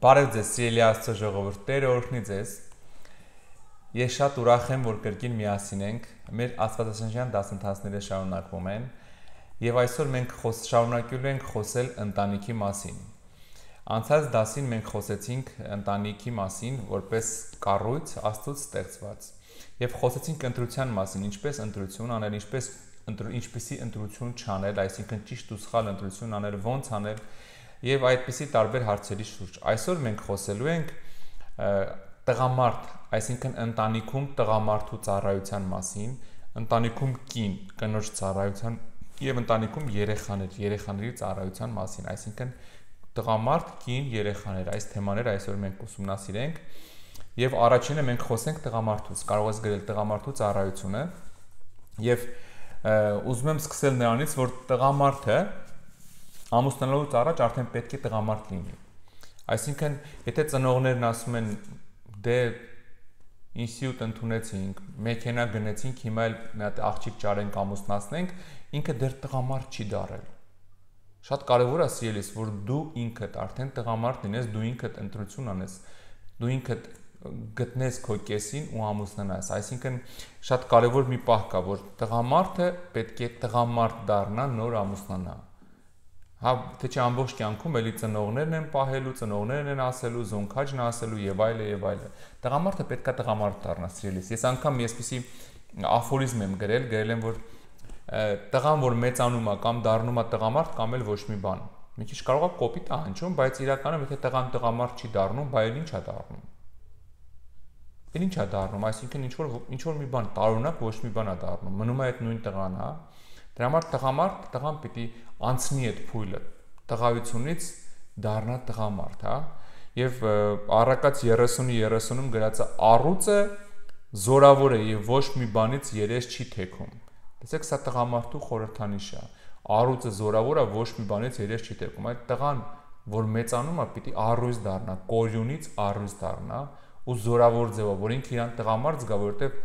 Բարև ձեզ, սիրելի Աստծո ժողովուրդ, Տերը օրհնի ձեզ։ Ես շատ ուրախ եմ, որ կրկին միասին ենք։ Մեր աստվածաշնչյան դասընթացները շարունակվում են, եւ այսօր մենք շարունակելու ենք խոսել ընտանիքի մասին։ Անցած դասին մենք խոսեցինք ընտանիքի մասին, որպես կառույց Աստծուց ստեղծված, եւ խոսեցինք ընտրության մասին, ինչպես ընտրություն անել, ինչպեսի ընտրություն չանել, այսինքն ճիշտ ու սխալ ընտրություն անել, ոնց անել եւ այդպիսի տարբեր հարցերի շուրջ։ Այսօր մենք խոսելու ենք տղամարդ, այսինքն ընտանիքում տղամարդու ծառայության մասին, ընտանիքում կին, կնոջ ծառայության եւ ընտանիքում երեխաների ծառայության մասին, այսինքն տղամարդ, կին, երեխաներ, այս թեմաները այսօր մենք ուսումնասիրենք եւ առաջինը մենք խոսենք տղամարդուց, կարող ես գրել տղամարդու ծառայությունը եւ ուզում եմ սկսել նրանից, որ տղամարդը ամուսնանալուց առաջ արդեն պետք է տղամարդ լինի։ Այսինքն, եթե ծնողներն ասում են, դե ինստիտուտ ընդունեցինք, մեքենա գնեցինք, հիմա էլ մի հատ աղջիկ ճարենք ամուսնացնենք, ինքը դեռ տղամարդ չի դառել։ Շատ կարևոր է սիրելիս, որ դու ինքդ արդեն տղամարդ լինես, դու ինքդ ընտրություն անես, դու ինքդ գտնես քո կեսին ու ամուսնանաս։ Այսինքն, շատ կարևոր մի պահ կա, որ տղամարդը պետք է տղամարդ դառնա, նոր ամուսնանա։ Հա, թե չէ ամբողջ կյանքում էլի ծնողներն են պահելու, ծնողներն են ասելու, զոնքաճն ասելու եւ այլը եւ այլը։ Տղամարդը պետքա տղամարդ դառնա, սիրելիս։ Ես անգամ այսպիսի աֆորիզմ եմ գրել եմ, որ տղան, որ մեծանում է կամ դառնում է տղամարդ, կամ էլ ոչ մի բան։ Մի քիչ կարող է կոպիտ հնչում, բայց իրականում եթե տղան տղամարդ չի դառնում, բայ էլ ի՞նչ է դառնում։ Ինչ է դառնում, այսինքն ինչ որ մի բան տարօրինակ ոչ մի բան է դառնում։ Մնում է այդ նույն տղան, հա։ Դրա համար տղան պիտի անցնի այդ փուլը, տղայությունից դառնա տղամարդ, հա։ Եվ Առակաց 30-30-ում գրած է առուծը զորավոր է եւ ոչ մի բանից երես չի թեքում։ Տեսեք, սա տղամարդու խորհրդանիշ է։ Առուծը զորավոր է, ոչ մի բանից երես չի թեքում։ Այդ տղան, որ մեծանում է, պիտի առույց դառնա, կորյունից առույց դառնա ու զորավոր ձևով, որ ինքը իրան տղամարդ զգա, որովհետեւ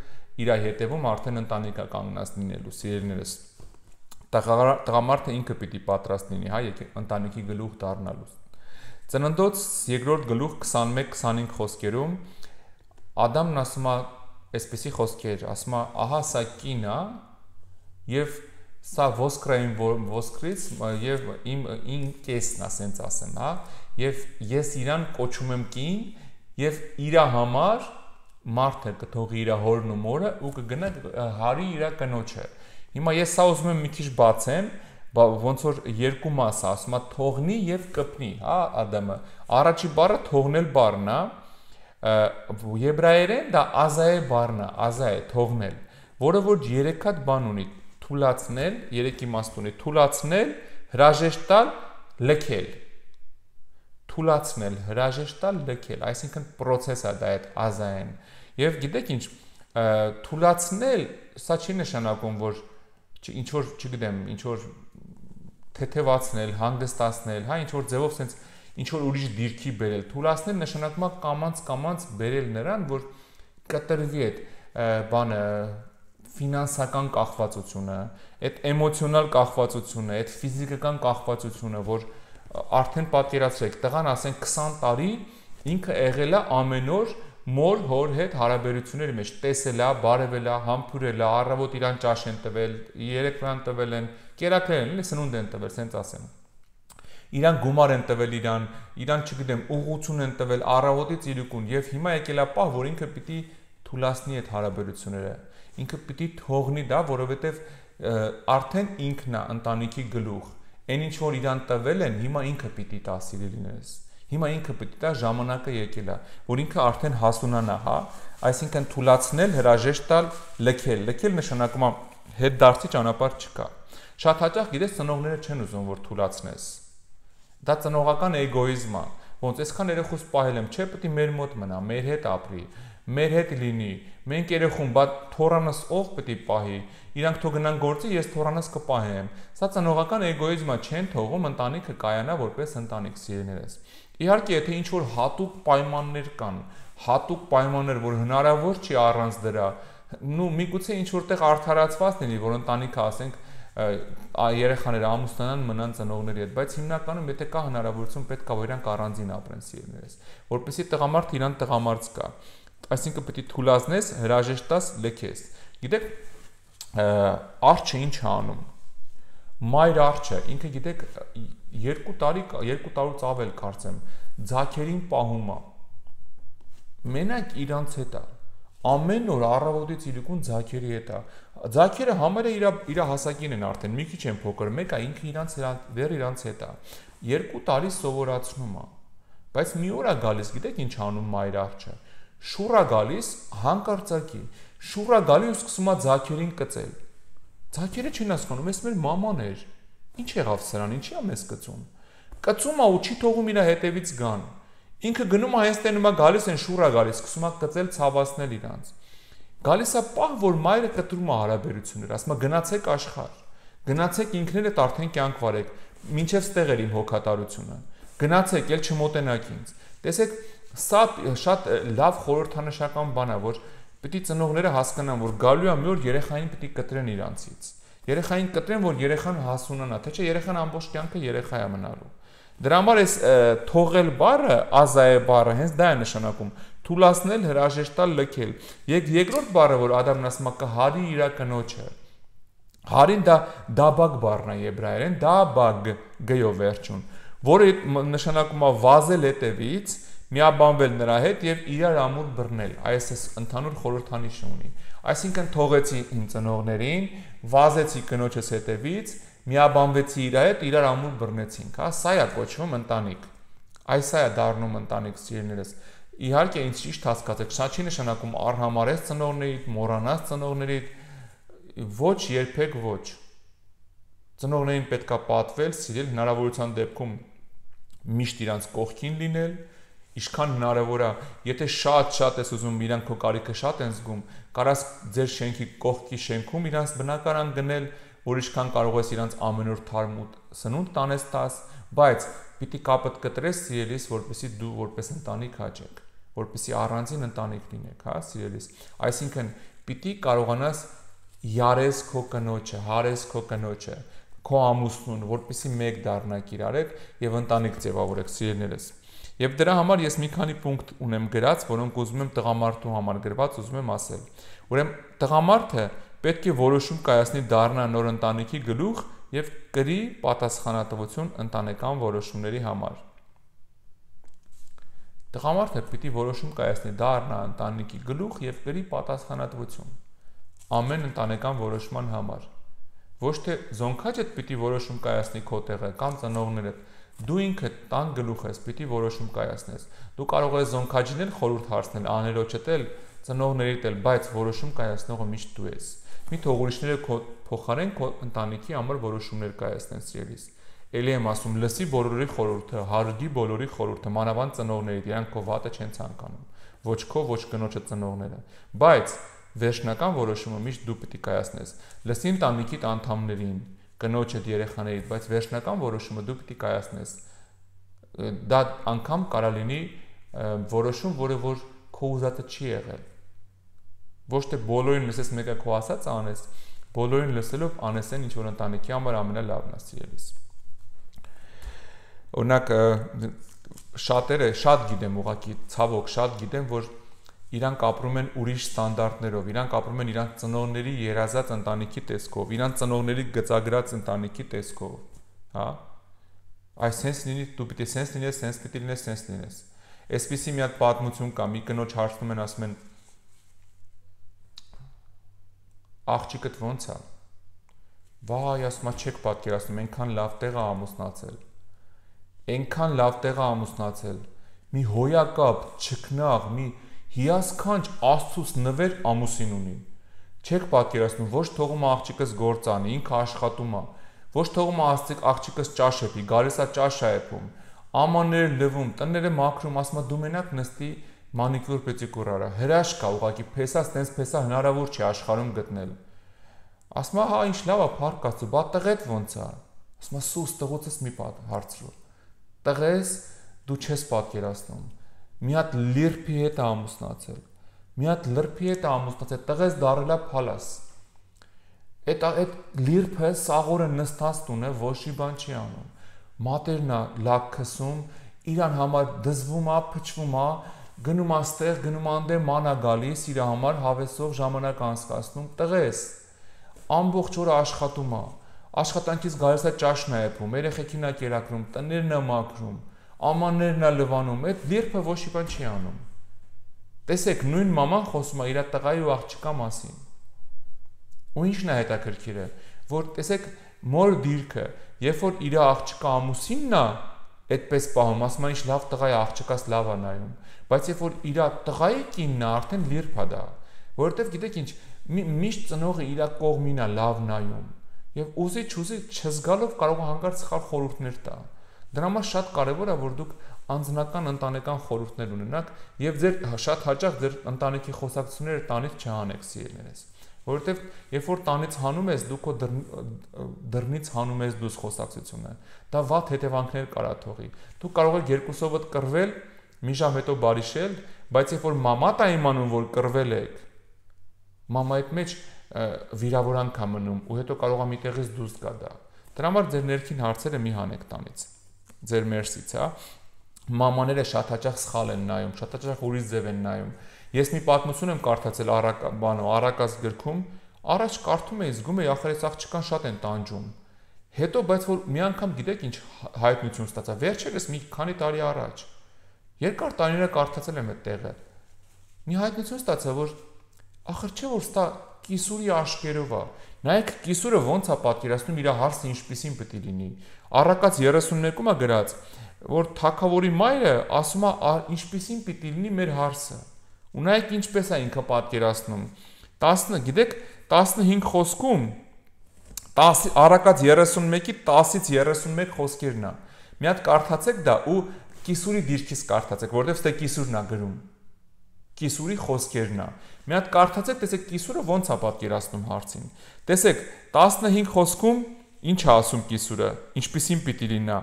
իր հետևում արդեն ընտանիք է կանգնած լինելու, սիրելիներս։ Տղամարդը ինքը պիտի պատրաստ լինի, հա, ընտանիքի գլուխ դառնալուց։ Ծննդոց 2-րդ գլուխ 21-25 խոսքերում Ադամն ասում է այսպիսի խոսքեր, ասում է, ահա սա կին է եւ սա ոսկրային ոսկրից եւ իմ կեսն է, ասենց ասեմ, հա, եւ ես իրան կոչում եմ կին եւ իր համար մարդը կթողի իր հորն ու մորը ու կգնա հարի իր կնոջը։ Հիմա ես սա ուզում եմ մի քիչ բացեմ, ոնց որ երկու մաս է, ասում է թողնի եւ կպնի, հա, Ադամը։ Առաջի բառը թողնել բառն է, եբրայերեն դա ազայե բառն է, ազայե թողնել, որը որ 3 հատ բան ունի՝ թուլացնել, 3 իմաստ ունի՝ թուլացնել, հրաժեշտ տալ, լքել։ Թուլացնել, հրաժեշտ տալ, լքել, այսինքն process է դա այդ ազայեն։ Եվ գիտեք ինչ, թուլացնել, սա չի նշանակում, որ ինչ որ, չգիտեմ, ինչ որ թեթևացնել, հանգստացնել, հա, ինչ որ ձևով sense ինչ որ ուրիշ դիրքի բերել։ Թուլացնել նշանակում է կամած բերել նրան, որ կտրվի այդ բանը, ֆինանսական կախվածությունը, այդ էմոցիոնալ կախվածությունը, այդ ֆիզիկական կախվածությունը, որ արդեն պատկերացրեք, տղան ասենք 20 տարի ինքը եղել է ամեն օր մոր հոր հետ հարաբերությունների մեջ, տեսել է, բարևել է, համբուրել է, առավոտ իրան ճաշ են տվել, երեկվան տվել են, կերակրել են, սնունդ են տվել, սենց ասեմ։ Իրան գումար են տվել իրան, չգիտեմ, ուղղություն են տվել առավոտից իրիկուն եւ հիմա եկել է պահ, որ ինքը պիտի թուլացնի այդ հարաբերությունները։ Ինքը պիտի թողնի դա, որովհետեւ արդեն ինքն է ընտանիքի գլուխ։ Այն ինչ որ իրան տվել են, հիմա ինքը պիտի տա, սիրելիներս։ Հիմա ինքը պիտի տա, ժամանակը եկել է, որ ինքը արդեն հասունանա, հա, այսինքն թուլացնել, հրաժեշտ տալ, լքել նշանակում է հետ դարձի ճանապարհ չկա։ Շատ հաճախ գիտես ծնողները չեն ուզում որ թուլացնես։ Դա ծնողական էգոիզմ է, ոնց այսքան երեխուս պահել եմ, չէ, պետք է մեր մոտ մնա, մեր հետ ապրի, մեր հետ լինի, մենք երեխուն, բա թորանս ով պետք է պահի, իրանք թող գնան գործի, ես թորանս կպահեմ։ Սա ծնողական էգոիզմ է, չեն թողում ընտանիքը կայանա որպես ընտանիք, սիրելիներս։ Իհարկե, եթե ինչ որ հատուկ պայմաններ կան, որ հնարավոր չի առանց դրա, նու միգուցե ինչ որտեղ արդարացված լինի, որ ընտանիքը ասենք երեխաները ամուսնանան, մնան ծնողների հետ, բայց հիմնականում եթե կա հնարավորություն պետք է որ իրանք առանձին ապրեն սիրելիներս, որպեսզի տղամարդը իրան տղամարդ կա, այսինքն պետք է թուլացնես, հրաժեշտ տաս, լքես։ Գիտեք, արջը ինչ է անում։ Մայր արջը, ինքը գիտեք 2 տարուց ավել կարծեմ, ձագերին պահում է։ Մենակ իրանց հետ է։ Ամեն օր առավոտից իրիկուն ձագերի հետ է։ Ձագերը համարը իր հասակին են արդեն, մի քիչ են փոքր, մեկը ինքը դեռ իրանց հետ է։ 2 տարի սովորացնում է։ Բայց մի օր է գալիս, գիտեք ինչ անում մայր արջը։ Շուռ է գալիս հանկարծակի, շուռ է գալի ու սկսում է ձագերին կծել։ Ձագերը չեն հասկանում, էս մեր մաման էր։ Ինչ եղավ սրան, ինչի է մեզ կծում։ Կծում է ու չի թողում իր հետևից գան։ Ինքը գնում է հենց տենում է գալիս են շուռ է գալիս, սկսում է կծել, ցավացնել իրանց։ Գալիս է պահ, որ մայրը կտրում է հարաբերություններ, ասում է գնացեք աշխարհ։ Գնացեք ինքներդ արդեն կյանք վարեք, մինչև ստեղ էր իմ հոգատարությունը։ Գնացեք, ել չմոտենաք ինձ։ Տեսեք, սա շատ լավ խորհրդանշական բան է, որ պետք է ծնողները հասկանան, որ գալու է մի օր երեխային պետք է կտրեն իրանցից։ Երեխային կտրեն, որ երեխան հասունանա, թե չէ երեխան ամբողջ կյանքը երեխա է մնալու։ Դրա համար այս թողել բառը, ազայե բառը, հենց դա է նշանակում, թուլացնել, հրաժեշտալ, լքել։ Երկրորդ բառը, որ Ադամն ասում է, կհարի իր կնոջը։ Հարին դա դաբագ բառն է եբրայերեն, դաբագ գյով վերջուն, որը նշանակում է վազել հետևից, միաբանվել նրա հետ եւ իրար ամուր բռնել։ Այս ընդհանուր խորհրդանիշ ունի։ Այսինքն թողեցի իմ ծնողներին, վազեցի կնոջս հետևից, միաբանվեցի իր հետ, իրար ամուր բռնեցինք, հա, սա է կոչվում ընտանիք։ Այս է դառնում ընտանիք սիրելիներս։ Իհարկե ինձ ճիշտ հասկացեք, սա չի նշանակում արհամարես ծնողներիդ, մոռանաս ծնողներիդ, ոչ երբեք ոչ։ Ծնողներին պետքա պատվել, սիրել, հնարավորության դեպքում միշտ իրանց կողքին լինել, ինչքան հնարավոր է, եթե շատ ես ուզում, իրանք քո կարիքը շատ են զգում, կարաս ձեր շենքի կողքի շենքում իրանց բնակարան գնել, որ ինչքան կարող ես իրանց ամեն օր թարմ ու սնունդ տանես տաս, բայց պիտի կապդ կտրես սիրելիս, որպեսզի դու որպես ընտանիք հաճեք, որպեսզի առանձին ընտանիք լինեք, հա, սիրելիս։ Այսինքն պիտի կարողանաս յարես քո կնոջը, հարես քո կնոջը, քո ամուսնուն, որպեսզի մեկ դառնաք իրարեք եւ ընտանիք ձևավորեք սիրելիներս։ Եվ դրա համար ես մի քանի պունկտ ունեմ գրած, որոնք ուզում եմ տղամարդու համար գրված, ուզում եմ ասել։ Ուրեմն տղամարդը պետք է որոշում կայացնի դառնա նոր ընտանիքի գլուխ եւ կրի պատասխանատվություն ընտանեկան որոշումների համար։ Տղամարդը պիտի որոշում կայացնի դառնա ընտանիքի գլուխ եւ կրի պատասխանատվություն ամեն ընտանեկան որոշման համար։ Ոչ թե զոնքաճդ պիտի որոշում կայացնի քո տեղը կամ ծնողներդ, դու ինքդ տան գլուխ ես, պիտի որոշում կայացնես։ Դու կարող ես զոնքաճին էլ խորհուրդ հարցնել, աներոջդ էլ, ծնողներիդ էլ, բայց որոշում կայացնողը միշտ դու ես։ Մի թող ուրիշները քո փոխարեն քո ընտանիքի համար որոշումներ կայացնեն սիրելիս։ Էլի եմ ասում, լսի բոլորի խորհուրդը, հարգի բոլորի խորհուրդը, մանավանդ ծնողներիդ, իրանք քո վատը չեն ցանկանում։ Ոչ քո, ոչ կնոջը ծնողները։ Բայց վերջնական որոշումը միշտ դու պետք է կայացնես։ Լսի ընտանիքիդ անդամներին, կնոջդ, երեխաներիդ, բայց վերջնական որոշումը դու պետք է կայացնես։ Դա անգամ կարա լինի որոշում, որը որ քո ուզածը չի եղել։ Ոչ թե բոլորին լսես մեկը քո ասած անես, բոլորին լսելով անես այն, ինչ որ ընտանիքի համար ամենալավն է սիրելիս։ Օրինակ շատերը շատ գիտեմ, ուղղակի ցավոք շատ գիտեմ, որ իրանք ապրում են ուրիշ ստանդարտներով, իրանք ապրում են իրանք ծնողների երազած ընտանիքի տեսքով, իրանք ծնողների գծագրած ընտանիքի տեսքով, հա։ Այս sense լինի, դու պիտի sense լինես, sense պիտի լինես, sense լինես։ Այսպիսի մի հատ պատմություն կա, մի կնոջ հարցնում են, ասում են. աղջիկդ ո՞նց է։ Վայ, ասում է, չեք պատկերացնում, այնքան լավ տեղ է ամուսնացել։ Այնքան լավ տեղ է ամուսնացել։ Մի հոյակապ, չքնաղ, մի հիասքանչ Աստծուց նվեր ամուսին ունի։ Չեք պատկերացնում, ոչ թողում է աղջիկս գործ անի, ինքը աշխատում է, ոչ թողում է աղջիկս ճաշ էպի, գալիս է ճաշ է էպում, ամանները լվում, տները մաքրում, ասում է դու մենակ նստի մանիկյուր պետիկյուր արա, հրաշք է ուղղակի, փեսա ստենց փեսա հնարավոր չի աշխարհում գտնել։ Ասում է հա ինչ լավ է, փառք Աստծո, բա տղեդ ո՞նց է։ Ասում է սուս տղուցս մի հարցրու։ Տղես դու չես պատկերացնում։ Մի հատ լիրփի հետ է ամուսնացել։ Մի հատ լրփի հետ է ամուսնացել, տղես դարելա փալաս։ Այդ լիրփը սաղորը նստած տունը ոչի բան չի անում։ Մատերն է լակ քսում, իրան համար դզվում է, փչվում է, գնում աստեղ, գնում անդե մանա գալիս, իր համար հավեսով ժամանակ անցկացնում, տղես։ Ամբողջ օրը աշխատում է։ Աշխատանքից գալիս է ճաշն է եփում, երեխեքին է կերակրում, տներն է մաքրում, ամաններն է լվանում, այդ լիրփը ոչի բան չի անում։ Տեսեք, նույն մաման խոսում է իր տղայի ու աղջկա մասին։ Ու ինչն է հետաքրքիրը, որ տեսեք մոր դիրքը, երբ որ իր աղջկա ամուսինն է այդպես պահում, ասում է ինչ լավ տղա է, աղջկաս լավ է նայում, բայց երբ որ իր տղայի կինն է արդեն լիրփ է դա, որովհետև գիտեք ինչ, միշտ ծնողը իր կողմին է լավ նայում, եւ ուզի չզգալով կարող է հանկարծ սխալ խորհուրդներ տա։ Դրա համար շատ կարևոր է, որ դուք անձնական ընտանեկան խորհուրդներ ունենաք եւ ձեր շատ հաճախ ձեր ընտանիքի խոսակցությունները տանից չհանեք սիրելիներս, որովհետեւ երբ որ տանից հանում ես, դու քո դռնից հանում ես դուս խոսակցությունը, դա վատ հետևանքներ կարա թողի։ Դու կարող ես երկուսովդ կռվել, մի ժամ հետո բարիշել, բայց երբ որ մամա տա իմանում, որ կռվել եք, մամայիդ մեջ վիրավորանք է մնում ու հետո կարող է միտեղից դուրս գա դա։ Դրա համար ձեր ներքին հարցերը մի հանեք տանից։ Ձեր մերսից, հա։ Մամաները շատ հաճախ սխալ են նայում, շատ հաճախ ուրիշ ձև են նայում։ Ես մի պատմություն եմ կարդացել Արակաց գրքում, առաջ կարդում էի, զգում էի, ախր այս աղջկան շատ են տանջում։ Հետո բայց որ մի անգամ գիտեք ինչ հայտնություն ստացա, վերջերս մի քանի տարի առաջ։ Երկար տարիներ կարդացել եմ այդ տեղը։ Մի հայտնություն ստացա, որ ախր չէ որ ստա կիսուրի աշկերով է։ Նայեք կիսուրը ոնց է պատկերացնում իր հարցը ինչպիսին պետք է լինի։ Արակաց 32-ում է գրած, որ թագավորի մայրը ասում է ինչպիսին պիտի լինի մեր հարցը։ Ու նայեք ինչպես է ինքը պատկերացնում։ 10, գիտեք, 15 խոսքում Արակաց 31-ի 10-ից 31 խոսքերն է։ Մի հատ կարդացեք դա ու կիսուրի դիրքից կարդացեք, որովհետև ստե կիսուրն է գրում։ Կիսուրի խոսքերն է։ Մի հատ կարդացեք, տեսեք կիսուրը ոնց է պատկերացնում հարցին։ Տեսեք, 15 խոսքում ինչ է ասում կիսուրը, ինչպիսին պիտի լինա։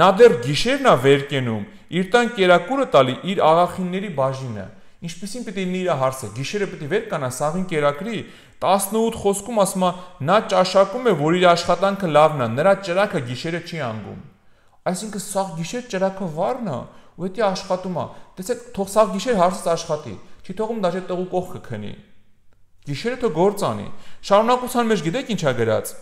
Նա դեռ գիշերն է վեր կենում, իր տան կերակուրը տալի իր աղախինների բաժինը։ Ինչպիսին պիտի լինի իր հարցը, գիշերը պիտի վեր կանա, սաղին կերակրի։ 18 խոսքում ասում է, նա ճաշակում է, որ իր աշխատանքը լավն է, նրա ճրակը գիշերը չի անգում։ Այսինքն սաղ գիշեր ճրակը վառն է, ու դա աշխատում է։ Տեսեք, թող սաղ գիշեր հարցից աշխատի, չի թողում դաժե տղու կողքը քնի։ Գիշերը թող գործ անի։ Շարունակության մեջ գիտեք ինչ է գրած։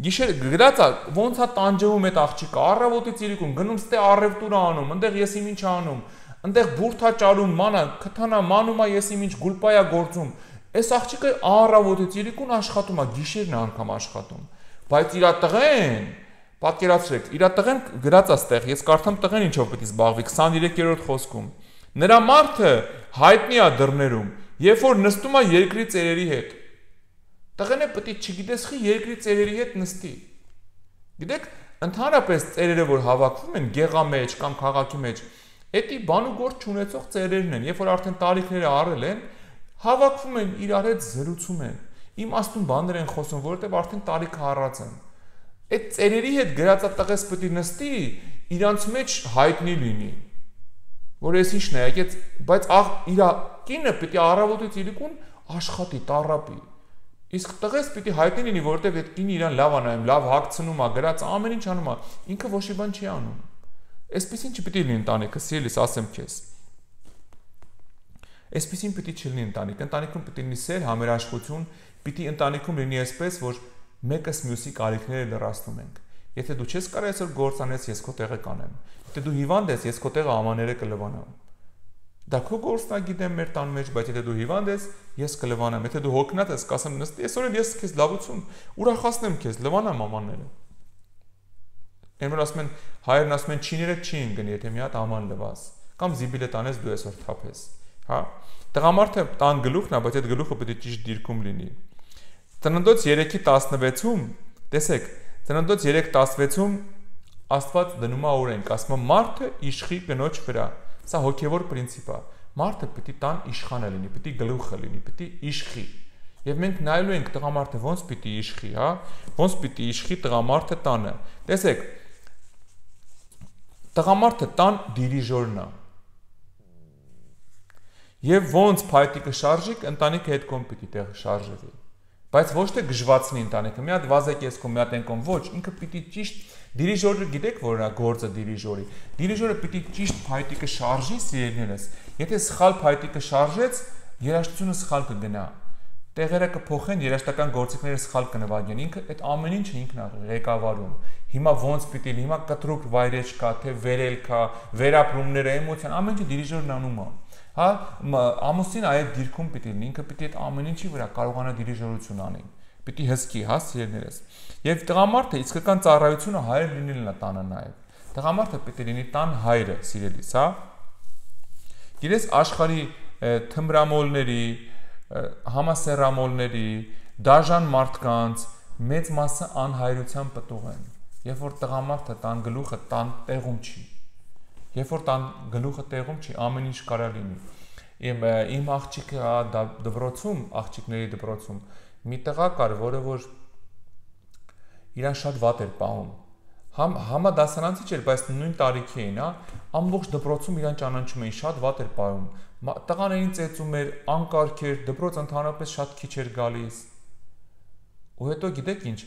Գիշերը գրած է, ոնց է տանջվում այդ աղջիկը, առավոտից իրիկուն գնում ստե առևտուր անում, այնտեղ ես իմ ինչ անում, այնտեղ բուրթա ճարում, մանա, քթանա, մանումա ես իմ ինչ գուլպայա գործում։ Այս աղջիկը առավոտից իրիկուն աշխատում է, գիշերն անգամ աշխատում։ Բայց իր տղեն, պատկերացրեք, իր տղեն գրած է ստեղ, ես կարդամ տղեն ինչով պետք է զբաղվի 23-րդ խոսքում։ Նրա մարդը հայտնի է դռներում, երբ որ նստում է երկրի ծերերի հետ։ Տղեն է պետք է չգիտես խի երկրի ծերերի հետ նստի։ Գիտեք, ընդհանրապես ծերերը որ հավաքվում են գեղա մեջ կամ քաղաքի մեջ, էդի բան ու գործ չունեցող ծերերն են, երբ որ արդեն տարիքները առել են, հավաքվում են իրար հետ զրուցում են։ Իմաստուն բաներ են խոսում, որովհետև արդեն տարիքը առած են։ Այդ ծերերի հետ գրածա տղես պետք է նստի, իրանց մեջ հայտնի լինի։ Որ ես ինչն է, եկեց, բայց իր կինը պետք է առավոտից իրիկուն աշխատի, տառապի։ Իսկ տղես պիտի հայտնի լինի, որովհետև այդ կինը իրան լավ է նայում, լավ հագցնում է, գրած ամեն ինչ անում է, ինքը ոչի բան չի անում։ Այսպեսին չպիտի լինի ընտանիքը, սիրելիս, ասեմ քեզ։ Այսպեսին պիտի չլինի ընտանիք, ընտանիքում պիտի լինի սեր, համերաշխություն, պիտի ընտանիքում լինի այսպես, որ մեկս մյուսի կարիքները լրացնում ենք։ Եթե դու չես կարող այսօր գործանես, ես քո տեղը կանեմ։ Եթե դու հիվանդ ես, ես քո տեղը ամաները կլվանամ։ Դա քո գործն է, գիտեմ մեր տան մեջ, բայց եթե դու հիվանդ ես, ես կլվանամ։ Եթե դու հոգնած ես, կասեմ նստի, այսօր էլ ես քեզ լավություն ուրախացնեմ քեզ, լվանամ ամանները։ Այնօր ասում են, հայերն ասում են չիները չին գնի, եթե մի հատ աման լվաս, կամ զիբիլը տանես դու այսօր թափես, հա։ Տղամարդը տան գլուխն է, բայց այդ գլուխը պետք է ճիշտ դիրքում լինի։ Ծննդոց 3:16-ում, տեսեք, Ծննդոց 3:16-ում Աստված դնում է օրենք, ասում է մարդը իշխի կնոջ վրա։ Սա հոգևոր պրինցիպ է։ Մարդը պետք է տան իշխանը լինի, պետք է գլուխը լինի, պետք է իշխի։ Եվ մենք նայելու ենք տղամարդը ոնց պիտի իշխի, հա, ոնց պիտի իշխի տղամարդը տանը։ Տեսեք, տղամարդը տան դիրիժորն է։ Եվ ոնց փայտիկը շարժիկ, ընտանիքը հետ կողմ պիտի տեղ շարժվի։ Բայց ոչ թե գժվացնի ընտանիքը, մի հատ վազեք ես կոմ, մի հատ ենկոմ, ոչ, ինքը պիտի ճիշտ դիրիժորը գիտեք որ նա գործը դիրիժորի։ Դիրիժորը պիտի ճիշտ փայտիկը շարժի սիրելիներս։ Եթե սխալ փայտիկը շարժեց, երաժշտությունը սխալ կգնա։ Տեղերը կփոխեն, երաժշտական գործիքները սխալ կնվագեն։ Ինքը այդ ամեն ինչը ինքն է ղեկավարում։ Հիմա ոնց պիտի, հիմա կտրուկ վայրեջ կա, թե վերելք կա, վերապրումները, էմոցիան, ամեն ինչը դիրիժորն անում է։ Հա, ամուսին այդ դիրքում պիտի լինի, ինքը պիտի այդ ամեն ինչի վրա կարողանա դիրիժորություն անի։ Պիտի հսկի, հա, սիրելիներս։ Եվ տղամարդը իսկական ծառայությունը հայր լինելն է տանը նաև։ Տղամարդը պիտի լինի տան հայրը, սիրելիս, հա։ Գիտես աշխարհի թմրամոլների, համասեռամոլների, դաժան մարդկանց մեծ մասը անհայրության պտուղ են։ Երբ որ տղամարդը տան գլուխը տան տեղում չի։ Երբ որ տան գլուխը տեղում չի, ամեն ինչ կարա լինի։ Իմ աղջիկը դպրոցում, աղջիկների դպրոցում մի տղա կար, որը որ իրան շատ վատ էր պահում։ Համադասարանցի չէր, բայց նույն տարիքի էին, հա, ամբողջ դպրոցում իրան ճանաչում էին, շատ վատ էր պահում։ Տղաներին ծեծում էր, անկարգ էր, դպրոց ընդհանրապես շատ քիչ էր գալիս։ Ու հետո գիտեք ինչ,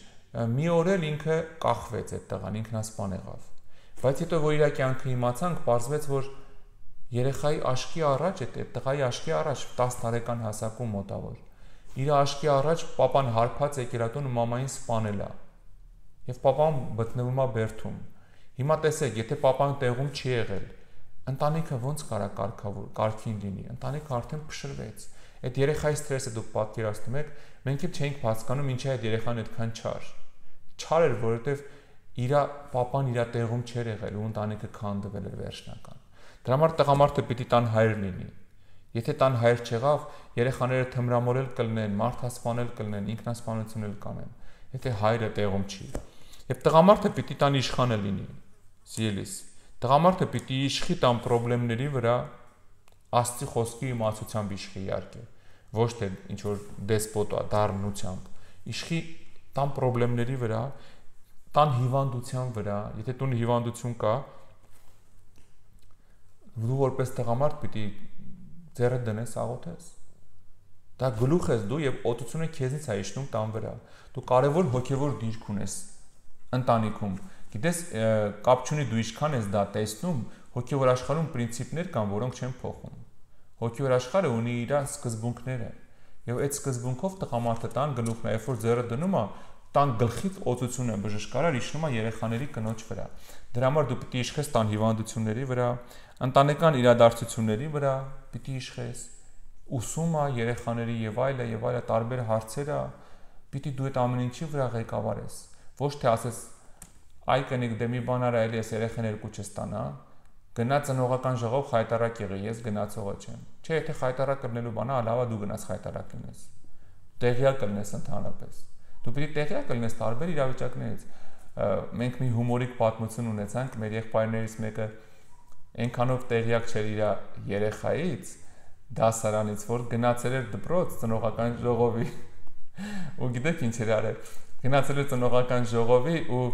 մի օր էլ ինքը կախվեց այդ տղան, ինքնասպան եղավ։ Բայց հետո որ իր կյանքը իմացանք, պարզվեց, որ երեխայի աչքի առաջ, այդ տղայի աչքի առաջ 10 տարեկան հասակում մոտավոր։ Իր աչքի առաջ պապան հարբած եկերատուն մամային սպանել է։ Եվ պապան գտնվում է բերդում։ Հիմա տեսեք, եթե պապան տեղում չի եղել, ընտանիքը ոնց կարա կարգին լինի, ընտանիքը արդեն փշրվեց։ Այդ երեխայի ստրեսը դուք պատկերացնում եք, մենք էլ չենք հասկանում ինչի այդ երեխան այդքան չար։ Չար էր, որովհետև իր պապան իր տեղում չէր եղել ու ընտանիքը քանդվել էր վերջնական։ Դրա համար տղամարդը պիտի տան հայր լինի։ Եթե տան հայր չեղավ, երեխաները թմրամոլել կլինեն, մարդասպանել կլինեն, ինքնասպանություն էլ կանեն, եթե հայրը տեղում չի։ Եվ տղամարդը պիտի տան իշխանը լինի, սիրելիս։ Տղամարդը պիտի իշխի տան խնդիրների վրա Աստծի խոսքի իմացությամբ իշխի իհարկե, ոչ թե ինչ որ դեսպոտա դառնությամբ, իշխի տան խնդիրների վրա, տան հիվանդության վրա, եթե տուն հիվանդություն կա, դու որպես տղամարդ պիտի ձեռը դնես աղոթես։ Դա գլուխ ես դու եւ օտությունը քեզնից է իջնում տան վրա։ Դու կարևոր հոգեվոր դիրք ունես ընտանիքում։ Գիտես, կապ չունի դու ինչքան ես դա տեսնում, հոգեվոր աշխարհում պրինցիպներ կան, որոնք չեն փոխում։ Հոգեվոր աշխարհը ունի իր սկզբունքները, եւ այդ սկզբունքով տղամարդը տան գլուխն է, երբ որ ձեռը դնում է, տան գլխից օծությունը բժշկարար իջնում է երեխաների կնոջ վրա։ Դրա համար դու պիտի իշխես տան հիվանդությունների վրա, ընտանեկան իրադարձությունների վրա պիտի իշխես, ուսումը, երեխաների եւ այլը տարբեր հարցերը, պիտի դու այդ ամեն ինչի վրա ղեկավարես։ Ոչ թե ասես այ կնիկ դե մի բան արա էլի էս երեխան երկու չստանա, գնա ծնողական ժողով խայտարակ եղի, ես գնացողը չեմ։ Չէ, եթե խայտարակ կլնելու բան է, լավա դու գնաս խայտարակ լինես։ Տեղյակ կլինես ընդհանրապես։ Դու պիտի տեղյակ կլինես տարբեր իրավիճակներից։ Մենք մի հումորիկ պատմություն ունեցանք, մեր եղբայրներից մեկը այնքանով տեղյակ չէր իր երեխայից, դասարանից, որ գնացել էր դպրոց ծնողական ժողովի։ Ու գիտեք ինչ էր արել։ Գնացել էր ծնողական ժողովի ու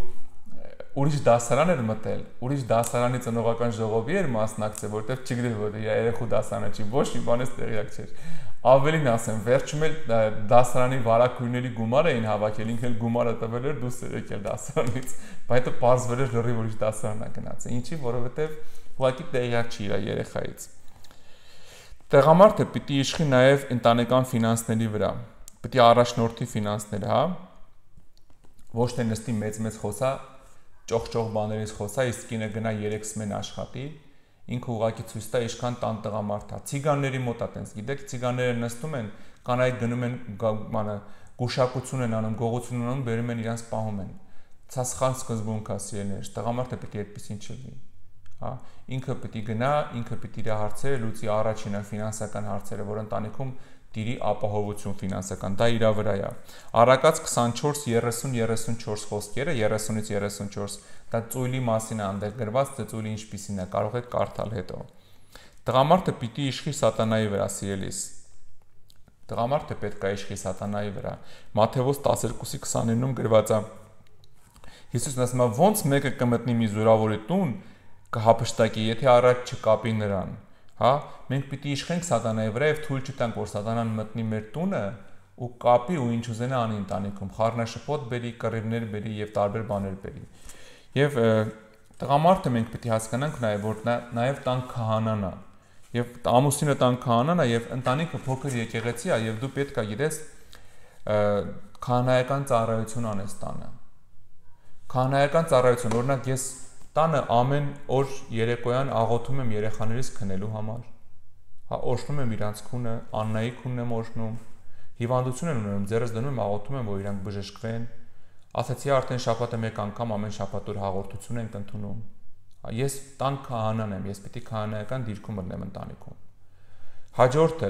ուրիշ դասարան էր մտել, ուրիշ դասարանի ծնողական ժողովի էր մասնակցել, որտեղ չգիտեր որ իր երեխու դասարանը չի, ոչ մի բանից տեղյակ չէր։ Ավելին ասեմ, վերջում էլ դասարանի վարակույրների գումար էին հավաքել, ինքն էլ գումարը տվել էր դուրս եկել դասարանից, բայց հետո պարզվել էր լրիվ ուրիշ դասարանն է գնացել։ Ինչի, որովհետև ուղղակի տեղյակ չի իր երեխայից։ Տղամարդը պիտի իշխի նաև ընտանեկան ֆինանսների վրա, պիտի առաջնորդի ֆինանսները, հա։ Ոչ թե նստի մեծ խոսա, ճոխ բաներից խոսա, իսկ կինը գնա 3 սմեն աշխատի, ինքը ուղղակի ցույց տա ինչքան տան տղամարդ է։ Ցիգանների մոտ է տենց, գիտեք, ցիգանները նստում են, կանայք գնում են, բանը գուշակություն են անում, գողություն անում, բերում են իրանց պահում են։ Սա սխալ սկզբունք է, սիրելիներ, տղամարդը պիտի այդպեսին չլինի, հա։ Ինքը պիտի գնա, ինքը պիտի իր հարցերը լուծի, առաջինը ֆինանսական հարցերը, որ ընտանիքում տիրի ապահովություն ֆինանսական, դա իր վրա է։ Առակաց 24-30-34 խոսքերը, 30-ից 34, դա ծույլի մասին է այնտեղ գրված, թե ծույլի ինչպիսին է, կարող եք կարդալ հետո։ Տղամարդը պիտի իշխի սատանայի վրա, սիրելիս։ Տղամարդը պետք է իշխի սատանայի վրա։ Մատթեոս 12:29-ում գրված է. Հիսուսն ասում է, ոնց մեկը կմտնի մի զորավորի տուն, կհափշտակի, եթե առաջ չկապի նրան։ Հա, մենք պիտի իշխենք սատանայի վրա եւ թույլ չտանք, որ սատանան մտնի մեր տունը ու կապի ու ինչ ուզենա անի ընտանիքում, խառնաշփոթ բերի, կռիվներ բերի եւ տարբեր բաներ բերի։ Եվ տղամարդը մենք պետք է հասկանանք նաեւ, որ նաեւ տան քահանան է։ Եվ ամուսինը տան քահանան է եւ ընտանիքը փոքր եկեղեցի է եւ դու պետք է գիտես քահանայական ծառայություն անես տանը։ Քահանայական ծառայություն, օրինակ ես տանը ամեն օր երեկոյան աղոթում եմ երեխաներիս քնելու համար։ Հա օժտում եմ իրանց քունը, Աննայի քունն եմ օժտում, հիվանդություն են ունենում, ձեռս դնում եմ աղոթում եմ, որ իրանք բժշկվեն։ Ասացի արդեն շաբաթը մեկ անգամ ամեն շաբաթ օր հաղորդություն ենք ընդունում։ Ես տան քահանան եմ, ես պիտի քահանայական դիրքում մտնեմ ընտանիքում։ Հաջորդը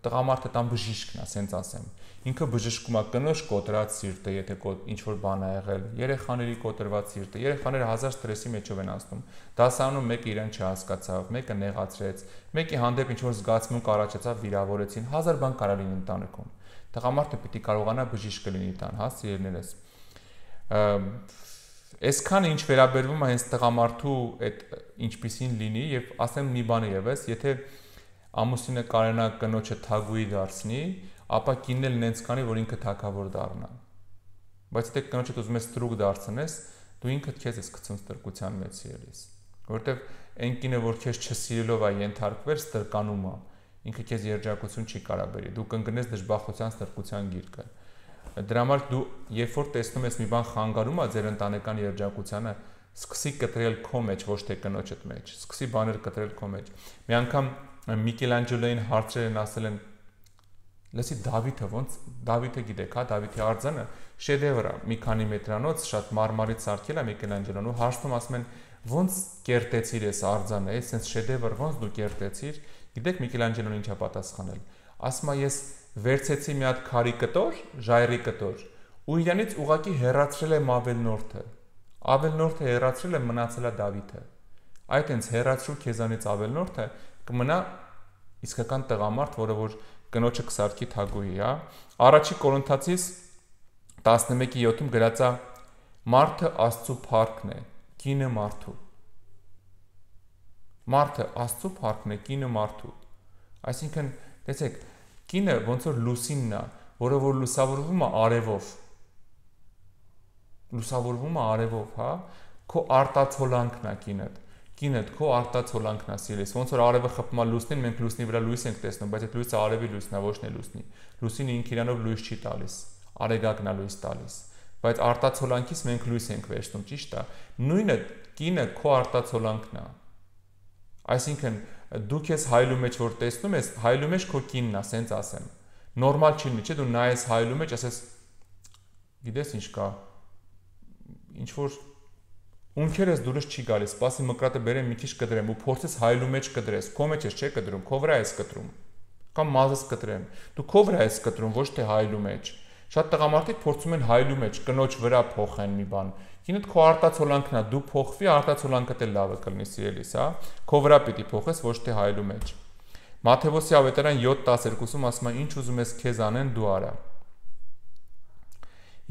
տղամարդը տան բժիշկն է, ասենց ասեմ։ Ինքը բժշկում է կնոջ կոտրած սիրտը, եթե ինչ որ բան է եղել, երեխաների կոտրված սիրտը, երեխաները հազար ստրեսի մեջով են անցնում։ Դասարանում մեկը իրեն չհասկացավ, մեկը նեղացրեց, մեկի հանդեպ ինչ որ զգացմունք առաջացավ, վիրավորեցին, հազար բան կարա լինի ընտանիքում։ Տղամարդը պիտի կարողանա բժիշկը լինի տան, հա, սիրելիներս։ Այսքանը ինչ վերաբերվում է հենց տղամարդու այդ ինչպիսին լինի եւ ասեմ մի բան եւս, եթե ամուսինը կարենա կնոջը թագուի դարձնի, ապա կինն էլ նենց կանի, որ ինքը թագավոր դառնա։ Բայց եթե կնոջդ ուզում ես ստրուկ դարձնես, դու ինքդ քեզ ես գցում ստրկության մեջ սիրելիս, որովհետեւ այն կինը, որ քեզ չսիրելով է ենթարկվել, ստրկանում է, ինքը քեզ երջանկություն չի կարա բերի, դու կընկնես դժբախտության ստրկության գիրկը։ Դրա համար դու երբ որ տեսնում ես մի բան խանգարում է ձեր ընտանեկան երջանկությանը, սկսի կտրել քո մեջ, ոչ թե կնոջդ մեջ, սկսի բաներ կտրել քո մեջ։ Մի անգամ Միքելանջելոին հարցրել են, ասել են, լսի Դավիթը ոնց, Դավիթը գիտեք, հա, Դավիթի արձանը շեդևր է, մի քանի մետրանոց, շատ մարմարից սարքել է Միքելանջելոն ու հարցնում ասում են, ոնց կերտեցիր այս արձանը, այս շեդևր ոնց դու կերտեցիր։ Գիտեք Միքելանջելոն ինչա պատասխանել։ Ասում է ես վերցեցի մի հատ քարի կտոր, ժայռի կտոր, ու իրանից ուղակի հեռացրել եմ ավելնորդը։ Ավելնորդը հեռացրել եմ, մնացել է Դավիթը։ Այդ հենց հեռացրու քեզանից ավելնորդը կմնա իսկական տղամարդ, որը որ կնոջը կսարքի թագուհի, հա։ Առաջի Կորինթացիս 11:7-ում գրած է. Մարդը Աստծո փառքն է, կինը մարդու։ Մարդը Աստծո փառքն է, կինը մարդու։ Այսինքն, տեսեք, կինը ոնց որ լուսինն է, որը որ լուսավորվում է արևով։ Լուսավորվում է արևով, հա։ Քո արտացոլանքն է կինդ։ Կինդ քո արտացոլանքն է սիրես։ Ոնց որ արևը խփում է լուսնին, մենք լուսնի վրա լույս ենք տեսնում, բայց այդ լույսը արևի լույսն է, ոչ թե լուսնի։ Լուսինը ինքը իրանով լույս չի տալիս, արեգակն է լույս տալիս։ Բայց արտացոլանքից մենք լույս ենք վերցնում, ճիշտ է։ Նույնը կինը քո արտացոլանքն է։ Այսինքն դու քեզ հայլու մեջ որ տեսնում ես, հայլու մեջ քո կինն է, ասենց ասեմ։ Նորմալ չի լինի, չէ՞, դու նայես հայլու մեջ, ասես գիտես ինչ կա։ Ինչ որ ունքերս դուրս չի գալիս, սպասի մկրատը բերեմ մի քիչ կդրեմ ու փորձես հայլու մեջ կդրես, քո մեջ ես չէ կդրում, քո վրա ես կտրում։ Կամ մազս կտրեմ։ Դու քո վրա ես կտրում, ոչ թե հայլու մեջ։ Շատ տղամարդիկ փորձում են հայլու մեջ կնոջ վրա փոխեն մի բան։ Կինդ քո արտացոլանքն է, դու փոխվի, արտացոլանքդ էլ լավը կլինի սիրելիս, հա։ Քո վրա պիտի փոխես, ոչ թե հայլու մեջ։ Մատթեոս ավետարան 7:12-ում ասում է. ինչ ուզում ես քեզ անեն, դու արա։